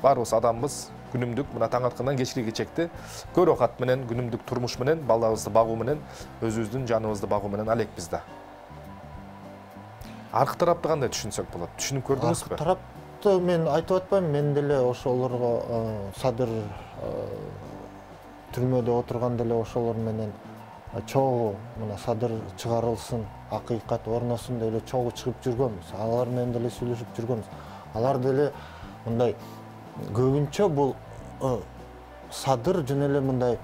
баарыбыз адамбыз, күнүмдүк мына таң аткандан кечке чекти көрө кат менен, күнүмдүк турмуш менен, балабызды багуу менен, өзүбүздүн жаныбызды багуу менен алекпиз да. Аркы тарапты кандай түшүнсөк болот? Түшүнүп көрдүңүзбү? Аркы тарапты мен айтып атпайм, мен деле ошолорго Садыр түрмөдө отурган деле ошолор менен чогуу мына Садыр чыгарылсын, акыйкат орносун деп эле чогуу чыгып жүргөнбүз. Алар менен деле сүйлөшүп жүргөнбүз. Алар деле мындай көбүнчө бул Садыр жөн эле мындай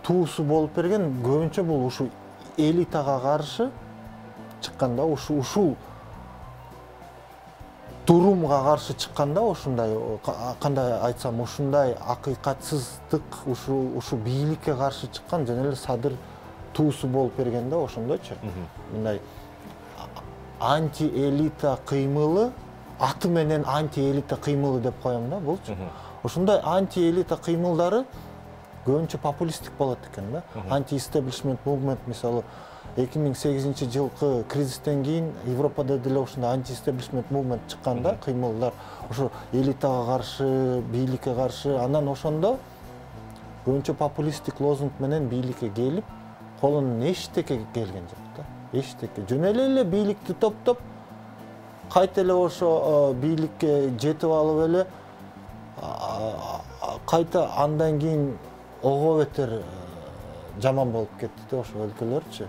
туусу болуп берген, көбүнчө бул ушу элитага каршы чыкканда, ушул турумга каршы чыкканда, ушундай кандай айтсам, ушундай акыйкатсыздык, ушу бийликке каршы чыккан жөн эле Садыр туусу болуп берген да, ошондойчу. Мындай анти-элита кыймылы, аты менен анти-элита кыймылы деп коем да, булчу. Ошондой анти-элита кыймылдары көбүнчө популисттик болот экен да. Анти-истеблишмент мувмент, мисалы 2008-жылкы кризистен кийин Европада деле ушундай анти-истеблишмент мувмент чыккан да, кыймылдар. Ошо элитага каршы, бийликке каршы, анан ошондо көбүнчө популисттик лозунг менен бийликке келип, колунан эчтеке келген жок да. Эчтеке. Жөн эле бийликти топтоп, кайта эле ошо бийликке жетип алып эле, кайта андан кийин ого бетер жаман болуп кетти да ошо өлкөлөрчү.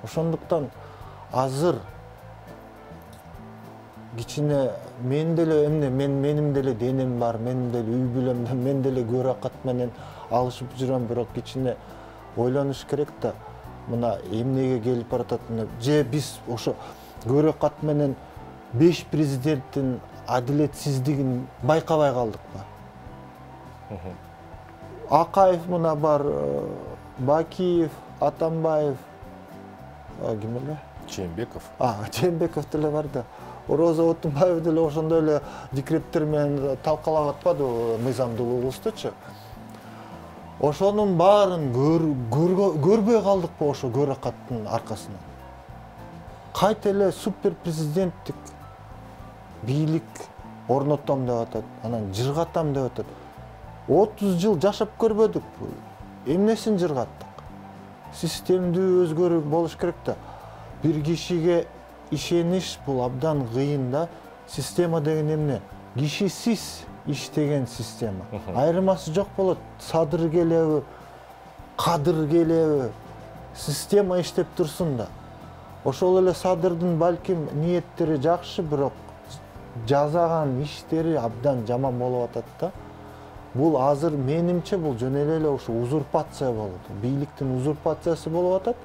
Ошондуктан азыр кичине мен деле менин деле денем бар, менин деле үй бүлөм, мен деле көрөкат менен алышып жүрөм, бирок кичине ойлонуш керек да. Мына эмнеге келип баратат, же биз ошо көрөкат менен 5 президенттин адилетсиздигин байкабай калдыкпы? Акаев мына бар, Бакиев, Атамбаев, ким эле? Жээнбеков деле бар да. Роза Отунбаев деле ошондой эле декреттер менен талкалап атпадыбы мыйзамдуу угулуштучу? Ошонун баарын көрбөй калдыкпы ошо көрөкаттын аркасынан? Кайта эле супер президенттик бийлик орнотом деп атат, анан жыргатам деп атат. 30 жыл жашап көрбөдүкпү? Эмнесин жыргаттык? Системдүү өзгөрүү болуш керек да. Бир кишиге ишениш бул абдан кыйын да. Система деген эмне? Кишисиз иштеген система. Айырмасы жок болот. Садыр келеби, Кадыр келеби, система иштеп турсун да. Ошол эле Садырдын балким ниеттери жакшы, бирок жазаган иштери абдан жаман болуп атат да. Бул азыр менимче бул жөн эле ошо узурпация болот. Бийликтин узурпациясы болуп атат.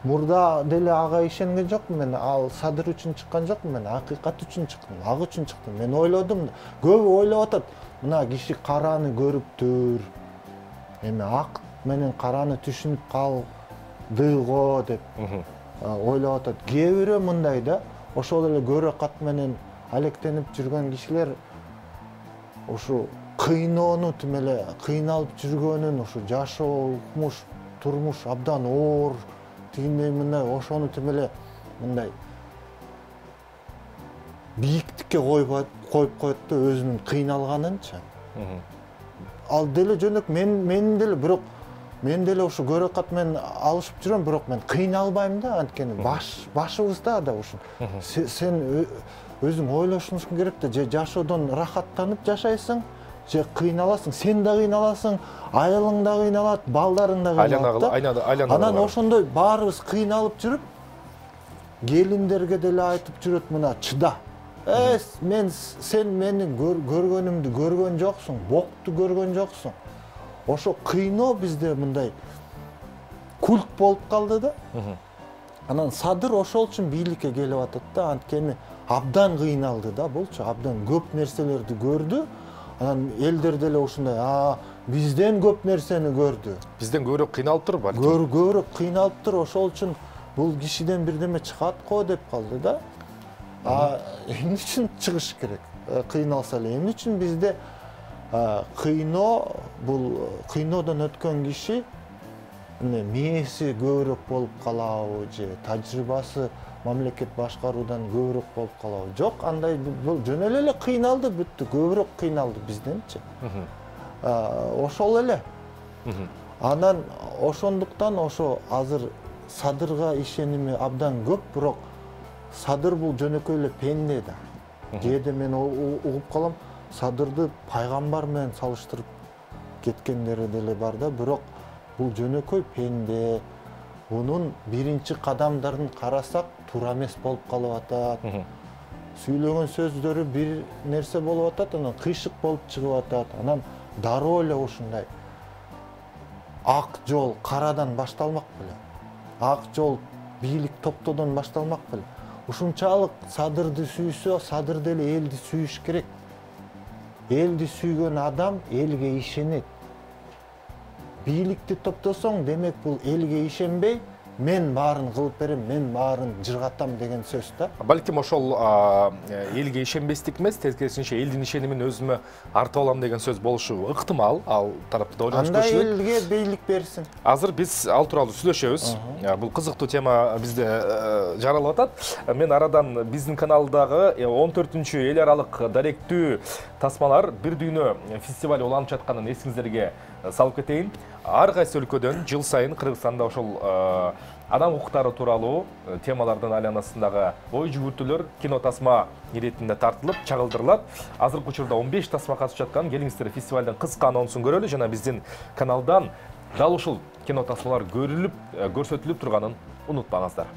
Мурда деле ага ишенген жокмун мен, ал Садыр үчүн чыккан жокмун мен, акыйкат үчүн чыктым, ак үчүн чыктым. Мен ойлодум, көбү ойлоп атат. Мына киши караны көрүптүр. Эми ак менен караны түшүнүп калдыго деп ойлоп атат. Кээ бирөө мындай да, ошол эле көрөкат менен алектенип жүргөн кишилер ушу кыйноону тим эле кыйналып жүргөнүн, ушу жашоо, турмуш абдан оор, тигиндей мындай ошону тим эле мындай бийиктикке коюп коет да өзүнүн кыйналганынча. Ал деле жөнөк менин деле, бирок мен деле ушу көрөкат менен алышып жүрөм, бирок мен кыйналбайм да, анткени башыбызда да ушун. Сен өзүң ойлошуң керек да, же жашоодон рахаттанып жашайсың, же кыйналасың, сен да кыйналасың, айылың да кыйналат, балдарың да кыйналат. Анан ошондой баарыбыз кыйналып жүрүп, келиндерге деле айтып жүрөт, мына чыда. Сен менин көргөнүмдү көргөн жоксуң, бокту көргөн жоксуң. Ошо кыйноо бизде мындай культ болуп калды да. Анан Садыр ошол үчүн бийликке келип атат да, анткени абдан кыйналды да булчу, абдан көп нерселерди көрдү. Анан элдер деле ушундай, бизден көп нерсени көрдү. Бизден көбүрөөк кыйналыптыр балки. Көбүрөөк кыйналыптыр, ошол үчүн бул кишиден бирдеме чыгат го деп калды да. Эмне үчүн чыгыш керек? Кыйналса эле эмне үчүн бизде кыйноо, бул кыйноодон өткөн киши мээси көбүрөөк болуп калабы же тажрыйбасы мамлекет башкаруудан көбүрөөк болуп калабы? Жок, андай бул жөн эле кыйналды, бүттү, көбүрөөк кыйналды бизденчи. Ошол эле. Анан ошондуктан ошо азыр Садырга ишеними абдан көп, бирок Садыр бул жөнөкөй эле пенде да. Кээде мен угуп калам, Садырды пайгамбар менен салыштырып кеткендери деле бар да, бирок бул жөнөкөй пенде. Унун биринчи кадамдарын карасак туура эмес болуп калып атат. Сүйлөгөн сөздөрү бир нерсе болуп атат, анан кыйшык болуп чыгып атат. Анан дароо эле ушундай ак жол карадан башталмак беле. Ак жол бийлик топтоодон башталмак беле. Ушунчалык Садырды сүйсө, Садыр деле элди сүйүш керек. Элди сүйгөн адам элге ишенет. Бийликти топтосоң, демек бул элге ишенбей, мен баарын кылып берем, мен баарын жыргатам деген сөз да. Балким ошол элге ишенбестик эмес, тескерисинче элдин ишенимин өзүмө артып алам деген сөз болушу ыктымал. Ал тарапты да ойлонуш керек. Андай элге бийлик берсин. Азыр биз ал тууралуу сүйлөшөбүз. Бул кызыктуу тема бизде жаралып атат. Мен арадан биздин каналдагы 14-чү эл аралык даректүү тасмалар бир дүйнө фестиваль уланып жатканын эсиңиздерге салып кетейин. Ар кайсы өлкөдөн жыл сайын Кыргызстанда ошол адам укуктары тууралуу темалардын айланасындагы ой жүгүртүүлөр кино тасма иретинде тартылып, чагылдырылат. Азыркы учурда 15 тасма катышып жаткан. Келиңиздер фестивалдын кыска анонсун көрөлү жана биздин каналдан дал ушул кино тасмалар көрүлүп, көрсөтүлүп турганын унутпаңыздар.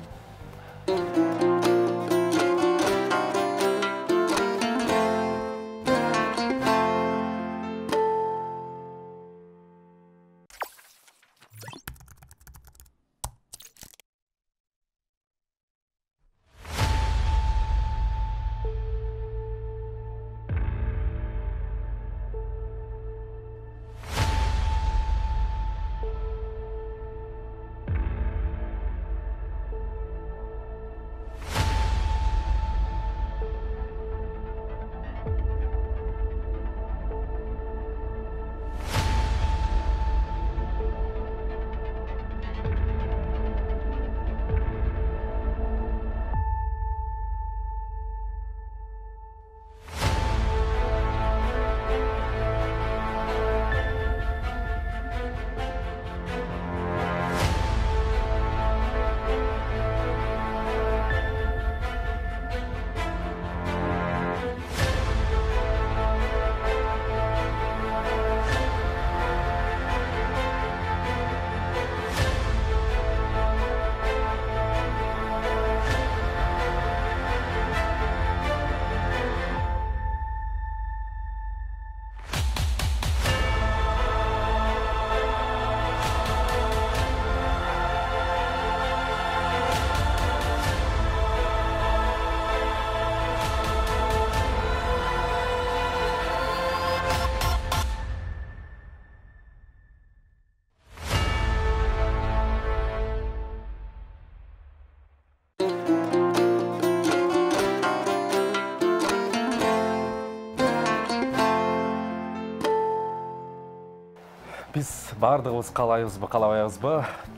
Биз бардыгыбыз каалайбызбы, каалабайбызбы,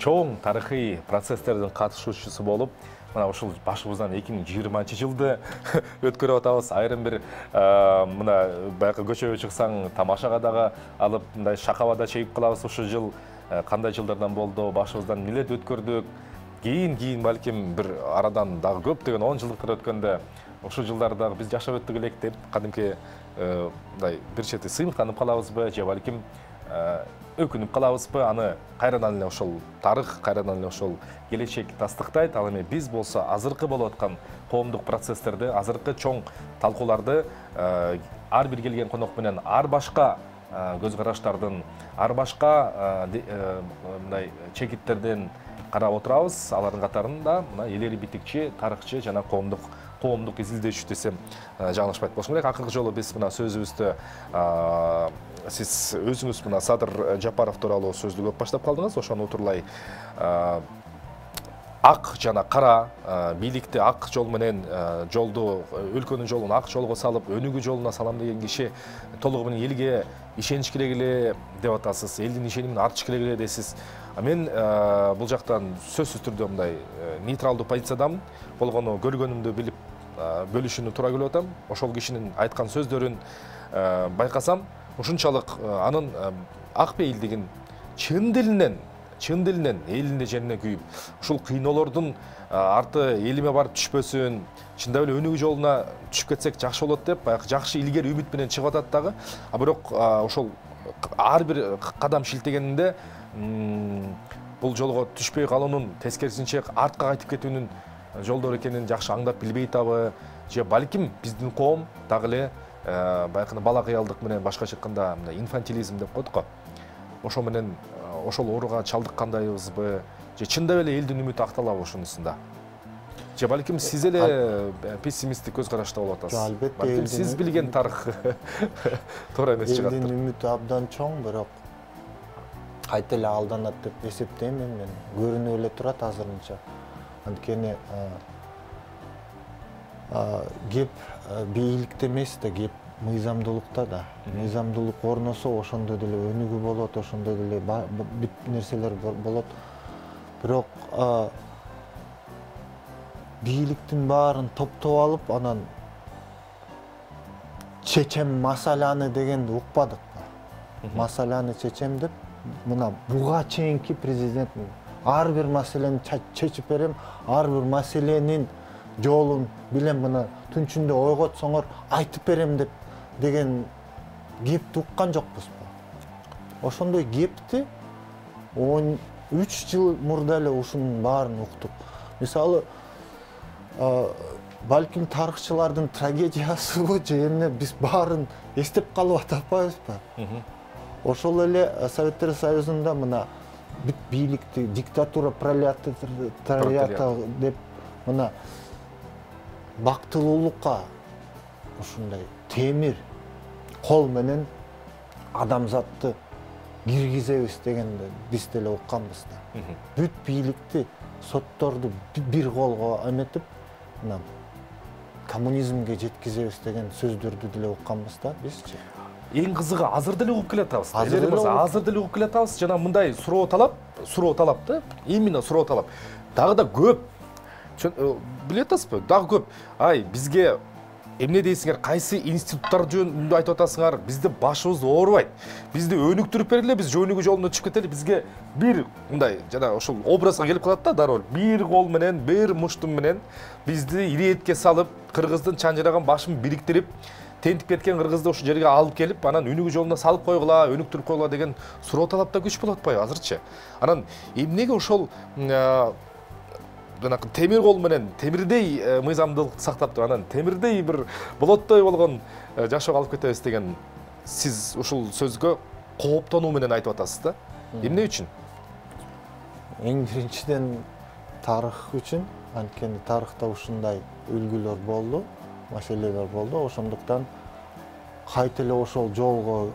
чоң тарыхый процесстердин катышуучусу болуп, мына ушул башыбыздан 2020-жылды өткөрүп атабыз. Айрым бир мына баягы көчөгө чыксаң тамашага дагы алып, мындай шакабада чегип калабыз. Ушул жыл кандай жылдардан болду, башыбыздан эмнелерди өткөрдүк. Кийин балким бир арадан дагы көптөгөн 10 жылдыктар өткөндө ошол жылдарды биз жашап өттүк элек деп кадимки мындай бир чети сыймыктанып калабызбы же балким өкүнүп калабызбы, аны кайрадан эле ошол тарых, кайрадан эле ошол келечек тастыктайт. Ал эми биз болсо азыркы болуп аткан коомдук процесстерди, азыркы чоң талкууларды ар бир келген конок менен ар башка көз караштардын, ар башка мындай чекиттерден карап отурабыз. Алардын катарында мына элери битикчи, тарыхчы жана коомдук изилдөөчү десем жаңылышпайт болушум керек. Акыркы жолу биз мына сөзүбүздө сиз өзүңүз мына Садыр Жапаров тууралуу сөздү көп баштап калдыңыз. Ошону утурлай ак жана кара бийликти ак жол менен жолду, өлкөнүн жолун ак жолго салып, өнүгүү жолуна салам деген киши толугу менен элге ишенич керек эле деп атасыз, элдин ишенимин артыш керек эле дейсиз. Мен бул жактан сөзсүз түрдө мындай нейтралдуу позициядамын. Болгону көргөнүмдү билип бөлүшүүнү туура көрүп атам. Ошол кишинин айткан сөздөрүн байкасам, ушунчалык анын ак пейилдигин чын дилинен элине жерине күйүп, ушул кыйноолордун арты элиме барып түшпөсүн, чындап эле өнүгүү жолуна түшүп кетсек жакшы болот деп, баягы жакшы илгери үмүт менен чыгып атат дагы. Бирок ошол ар бир кадам шилтегенинде бул жолго түшпөй калуунун, тескерисинче артка кайтып кетүүнүн жолдор экенин жакшы аңдап билбей табы, же балким биздин коом дагы эле баягы бала кыялдык менен башкача айтканда мындай инфантилизм деп коет го. Ошо менен ошол ооруга чалдыккандайбызбы, же чындап эле элдин үмүтү акталабы ушунусунда? Же балким сиз эле пессимисттик көз карашта болуп атасыз? Албетте, балким сиз билген тарых туура эмес чыгат. Элдин үмүтү абдан чоң, бирок кайта эле алданат деп эсептейм мен. Көрүнүп эле турат азырынча. Анткени кеп бийликте эмес да, кеп мыйзамдуулукта да. Мыйзамдуулук орносо ошондой деле өнүгүү болот, ошондой деле бүт нерселер болот. Бирок бийликтин баарын топтоп алып, анан чечем масаланы дегенди укпадык. Масаланы чечем деп, мына буга чейинки президент ар бир маселени чечип берем, ар бир маселенин жолун билем, мына түнчүндө ойготсоңор айтып берем деп деген кепти уккан жокпузбу? Ошондой кепти 13 жыл мурда эле ушунун баарын уктук. Мисалы, балким тарыхчылардын трагедиясыбы же эмне, биз баарын эстеп калып атпайбызбы? Ошол эле Советтер Союзунда мына бүт бийликти диктатура пролетариата деп мына бактылуулукка ушундай темир кол менен адамзатты киргизебиз дегенди биз деле укканбыз да. Бүт бийликти, сотторду бир колго эметип, мына коммунизмге жеткизебиз деген сөздөрдү деле укканбыз да бизчи. Эң кызыгы азыр деле угуп келатабыз. Азыр деле угуп келатабыз. Жана мындай суроо талап да, именно суроо талап. Дагы да көп. Билет атасызбы? Дагы көп. Ай, бизге эмне дейсиңер, кайсы институттар жөнүндө айтып атасыңар? Бизди башыбыз оорубайт. Бизди өнүктүрүп бергиле, биз өнүгүү жолуна түшүп кетели. Бизге бир мындай жана ошол образга келип калат да дароо. Бир кол менен, бир муштум менен бизди иретке салып, кыргыздын чанжыраган башын бириктирип, тентип кеткен кыргызды ошол жерге алып келип, анан өнүгүү жолуна салып койгула, өнүктүрүп койгула деген суроо талапта күч болуп атпайбы азырчы? Анан эмнеге ошол жанакы темир кол менен темирдей мыйзамдуулукту сактап туруп, анан темирдей бир болоттой болгон жашоого алып кетебиз деген сиз ушул сөзгө кооптонуу менен айтып атасыз да? Эмне үчүн? Эң биринчиден тарых үчүн, анткени тарыхта ушундай үлгүлөр болду, маселелер болду. Ошондуктан кайта эле ошол жолго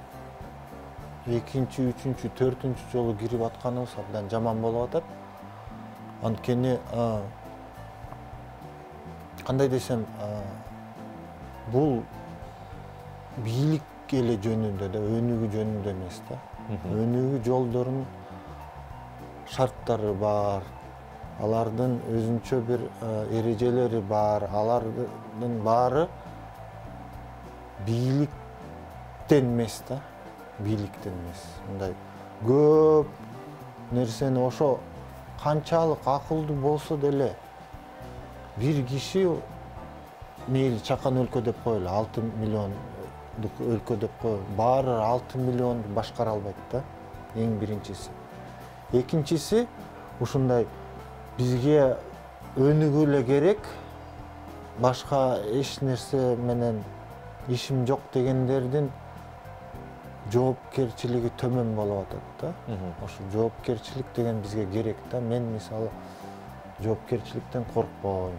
экинчи, үчүнчү, төртүнчү жолу кирип атканыбыз абдан жаман болуп атат. Анткени кандай десем, бул бийлик эле жөнүндө да, өнүгүү жөнүндө эмес да. Өнүгүү жолдорунун шарттары бар, алардын өзүнчө бир эрежелери бар, алардын баары бийликтен эмес да, бийликтен эмес. Мындай көп нерсени ошо канчалык акылдуу болсо деле бир киши мейли чакан өлкө деп коелу, 6 миллиондук өлкө деп коелу, баары 6 миллионду башкара албайт да, эң биринчиси. Экинчиси, ушундай бизге өнүгүү эле керек, башка эч нерсе менен ишим жок дегендердин жоопкерчилиги төмөн болуп атат да. Ошо жоопкерчилик деген бизге керек да. Мен мисалы жоопкерчиликтен коркпойм.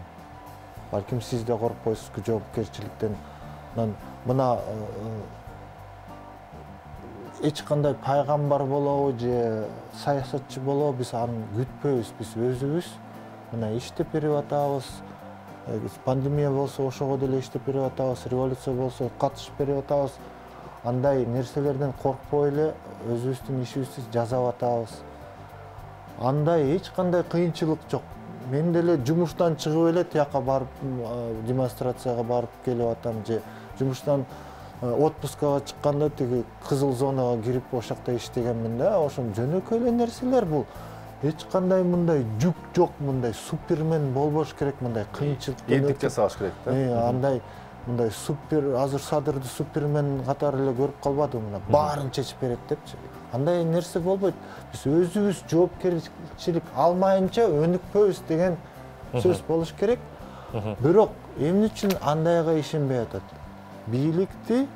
Балким сиз да коркпойсузбу жоопкерчиликтен. Мына эч кандай пайгамбар болобу же саясатчы болобу биз аны күтпөйбүз. Биз өзүбүз мына иштеп берип атабыз. Пандемия болсо ошого деле иштеп берип атабыз, революция болсо катышып берип атабыз. Андай нерселерден коркпой эле өзүбүздүн ишибизди жасап атабыз. Андай эч кандай кыйынчылык жок. Мен деле жумуштан чыгып эле тияка барып демонстрацияга барып келип атам же жумуштан отпускага чыкканда тиги кызыл зонага кирип ошол жакта иштегенмин да. Ошон жөнөкөй эле нерселер бул. Эч кандай мындай жүк жок, мындай супермен болбош керек, мындай кыйынчылыктан элдик жасабаш керек да. Андай мындай супер азыр Садырды супермен катары эле көрүп калбадым, мына баарын чечип берет депчи. Андай нерсе болбойт. Биз өзүбүз жоопкерчилик алмайынча өнүкпөйбүз деген сөз болуш керек. Бирок эмне үчүн андайга ишенбей атат? Бийликти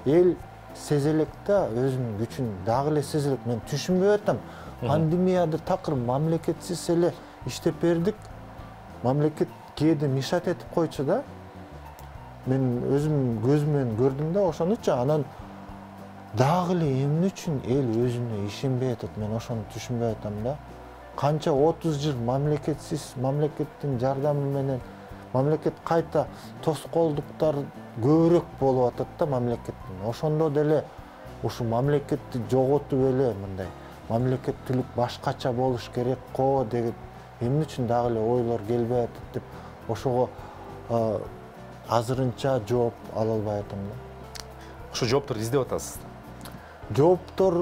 эл сезе элек да, өзүнүн күчүн дагы эле сезе элек. Мен түшүнбөй атам. Пандемияда такыр мамлекетсиз эле иштеп бердик. Мамлекет кээде мишат этип койчу да. Мен өзүм көзүмөн көрдүм да ошонучу. Анан дагы эле эмне үчүн эл өзүнө ишенбей атат? Мен ошону түшүнбөй атам да. Канча 30 жыл мамлекетсиз, мамлекеттин жардамы менен мамлекет кайта тоскоолдуктар көбүрөөк болуп атат да мамлекеттин. Ошондо деле ушу мамлекетти жоготуп эле мындай мамлекеттүүлүк башкача болуш керек го деген эмне үчүн дагы эле ойлор келбей атат деп ошого азырынча жооп ала албай атам да. Ошо жоопторду издеп атасыз. Жооптор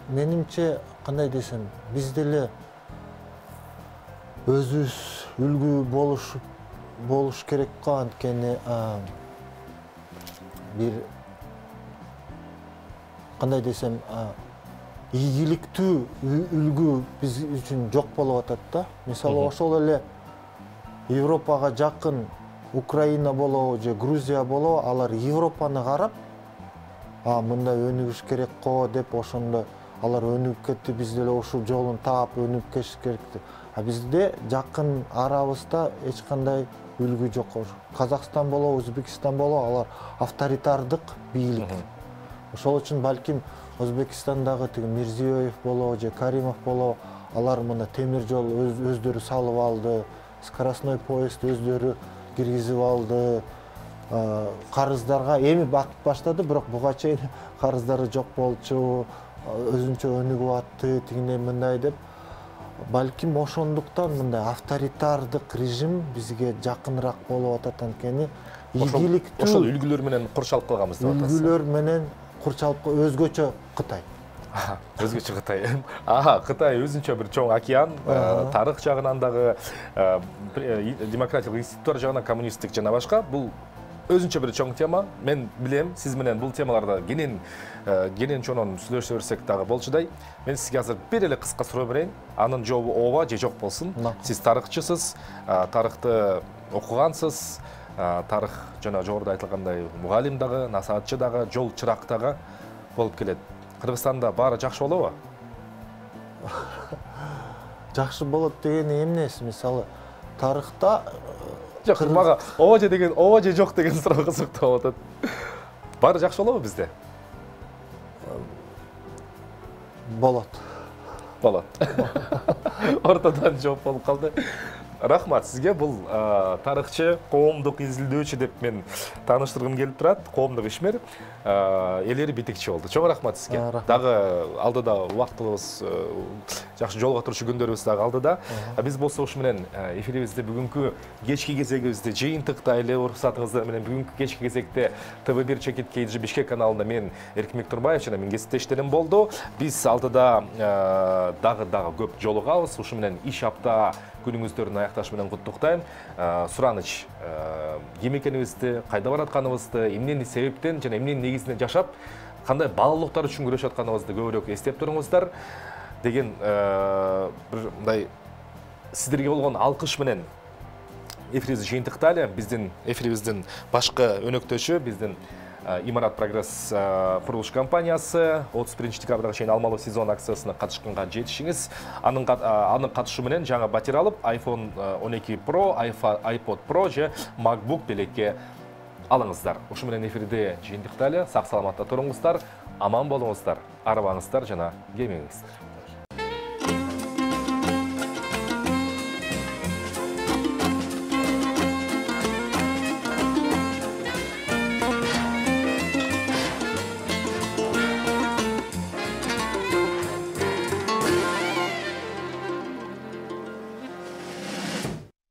менимче кандай десем, биз деле өзүбүз үлгү болуш керек го, анткени бир кандай десем, ийгиликтүү үлгү биз үчүн жок болуп атат да. Мисалы ошол эле Европага жакын Украина болобу же Грузия болобу, алар Европаны карап, мындай өнүгүш керек го деп ошондо алар өнүгүп кетти, биз деле ушул жолун таап өнүгүп кетиш керек деп. Бизде жакын арабызда эч кандай үлгү жок. Казакстан болобу, Өзбекстан болобу, алар авторитардык бийлик. Ошол үчүн балким Өзбекстандагы тиги Мирзиёев болобу же Каримов болобу, алар мына темир жол өздөрү салып алды, скоростной поезд өздөрү киргизип алды. Карыздарга эми батып баштады, бирок буга чейин карыздары жок болчу, өзүнчө өнүгүп атты, тигиндей мындай деп. Балким ошондуктан мындай авторитардык режим бизге жакыныраак болуп атат, анткени ийгиликтүү ошол үлгүлөр менен курчалып калганбыз деп атасыз. Үлгүлөр менен курчалып өзгөчө Кытай. Өзгөчө Кытай. Кытай өзүнчө бир чоң океан, тарых жагынан дагы, демократиялык институттар жагынан коммунисттик жана башка. Бул өзүнчө бир чоң тема. Мен билем, сиз менен бул темаларда кенен чонон сүйлөшө берсек дагы болчудай. Мен сизге азыр бир эле кыска суроо берейин. Анын жообу ооба же жок болсун. Сиз тарыхчысыз, тарыхты окугансыз, тарых жана жогоруда айтылгандай мугалим дагы, насаатчы дагы, жол чырак дагы болуп келет. Кыргызстанда баары жакшы болобу? Жакшы болот дегени эмнеси? Мисалы, тарыхта жок, мага ооба же жок деген суроо кызыктуу болуп атат. Баары жакшы болобу бизде? Болот. Ортодон жооп болуп калды. Рахмат сизге. Бул тарыхчы, коомдук изилдөөчү деп мен тааныштыргым келип турат. Коомдук ишмер, элери битикчи болду. Чоң рахмат сизге. Дагы алдыда убактыбыз жакшы жолго турчу күндөрүбүз дагы алдыда. Биз болсо ушу менен эфирибизди бүгүнкү кечки кезегибизди жыйынтыктайлы. Уруксатыңыздар менен бүгүнкү кечки кезекте ТВ1 Чекит KG Бишкек каналында мен Эркинбек Нурбаев жана менин кесиптештерим болду. Биз алдыда дагы көп жолугабыз. Ушу менен иш апта күнүңүздөрдүн аякташы менен куттуктайм. Сураныч ким экенибизди, кайда баратканыбызды, эмнени себептен жана эмненин негизинде жашап, кандай баалуулуктар үчүн күрөшүп атканыбызды көбүрөөк эстеп туруңуздар деген бир мындай сиздерге болгон алкыш менен эфирибизди жыйынтыктайлы. Биздин эфирибиздин башкы өнөктөшү биздин Имарат Прогресс курулуш компаниясы 31 декабрга чейин алмалуу сезон акциясына катышканга жетишиңиз. Анын катышы менен жаңы батир алып, iPhone 12 Pro, iPod Pro же MacBook белекке алыңыздар. Ушу менен эфирди жыйынтыктайлы. Сак саламатта туруңуздар, аман болуңуздар, арыбаңыздар жана кемеңиздер.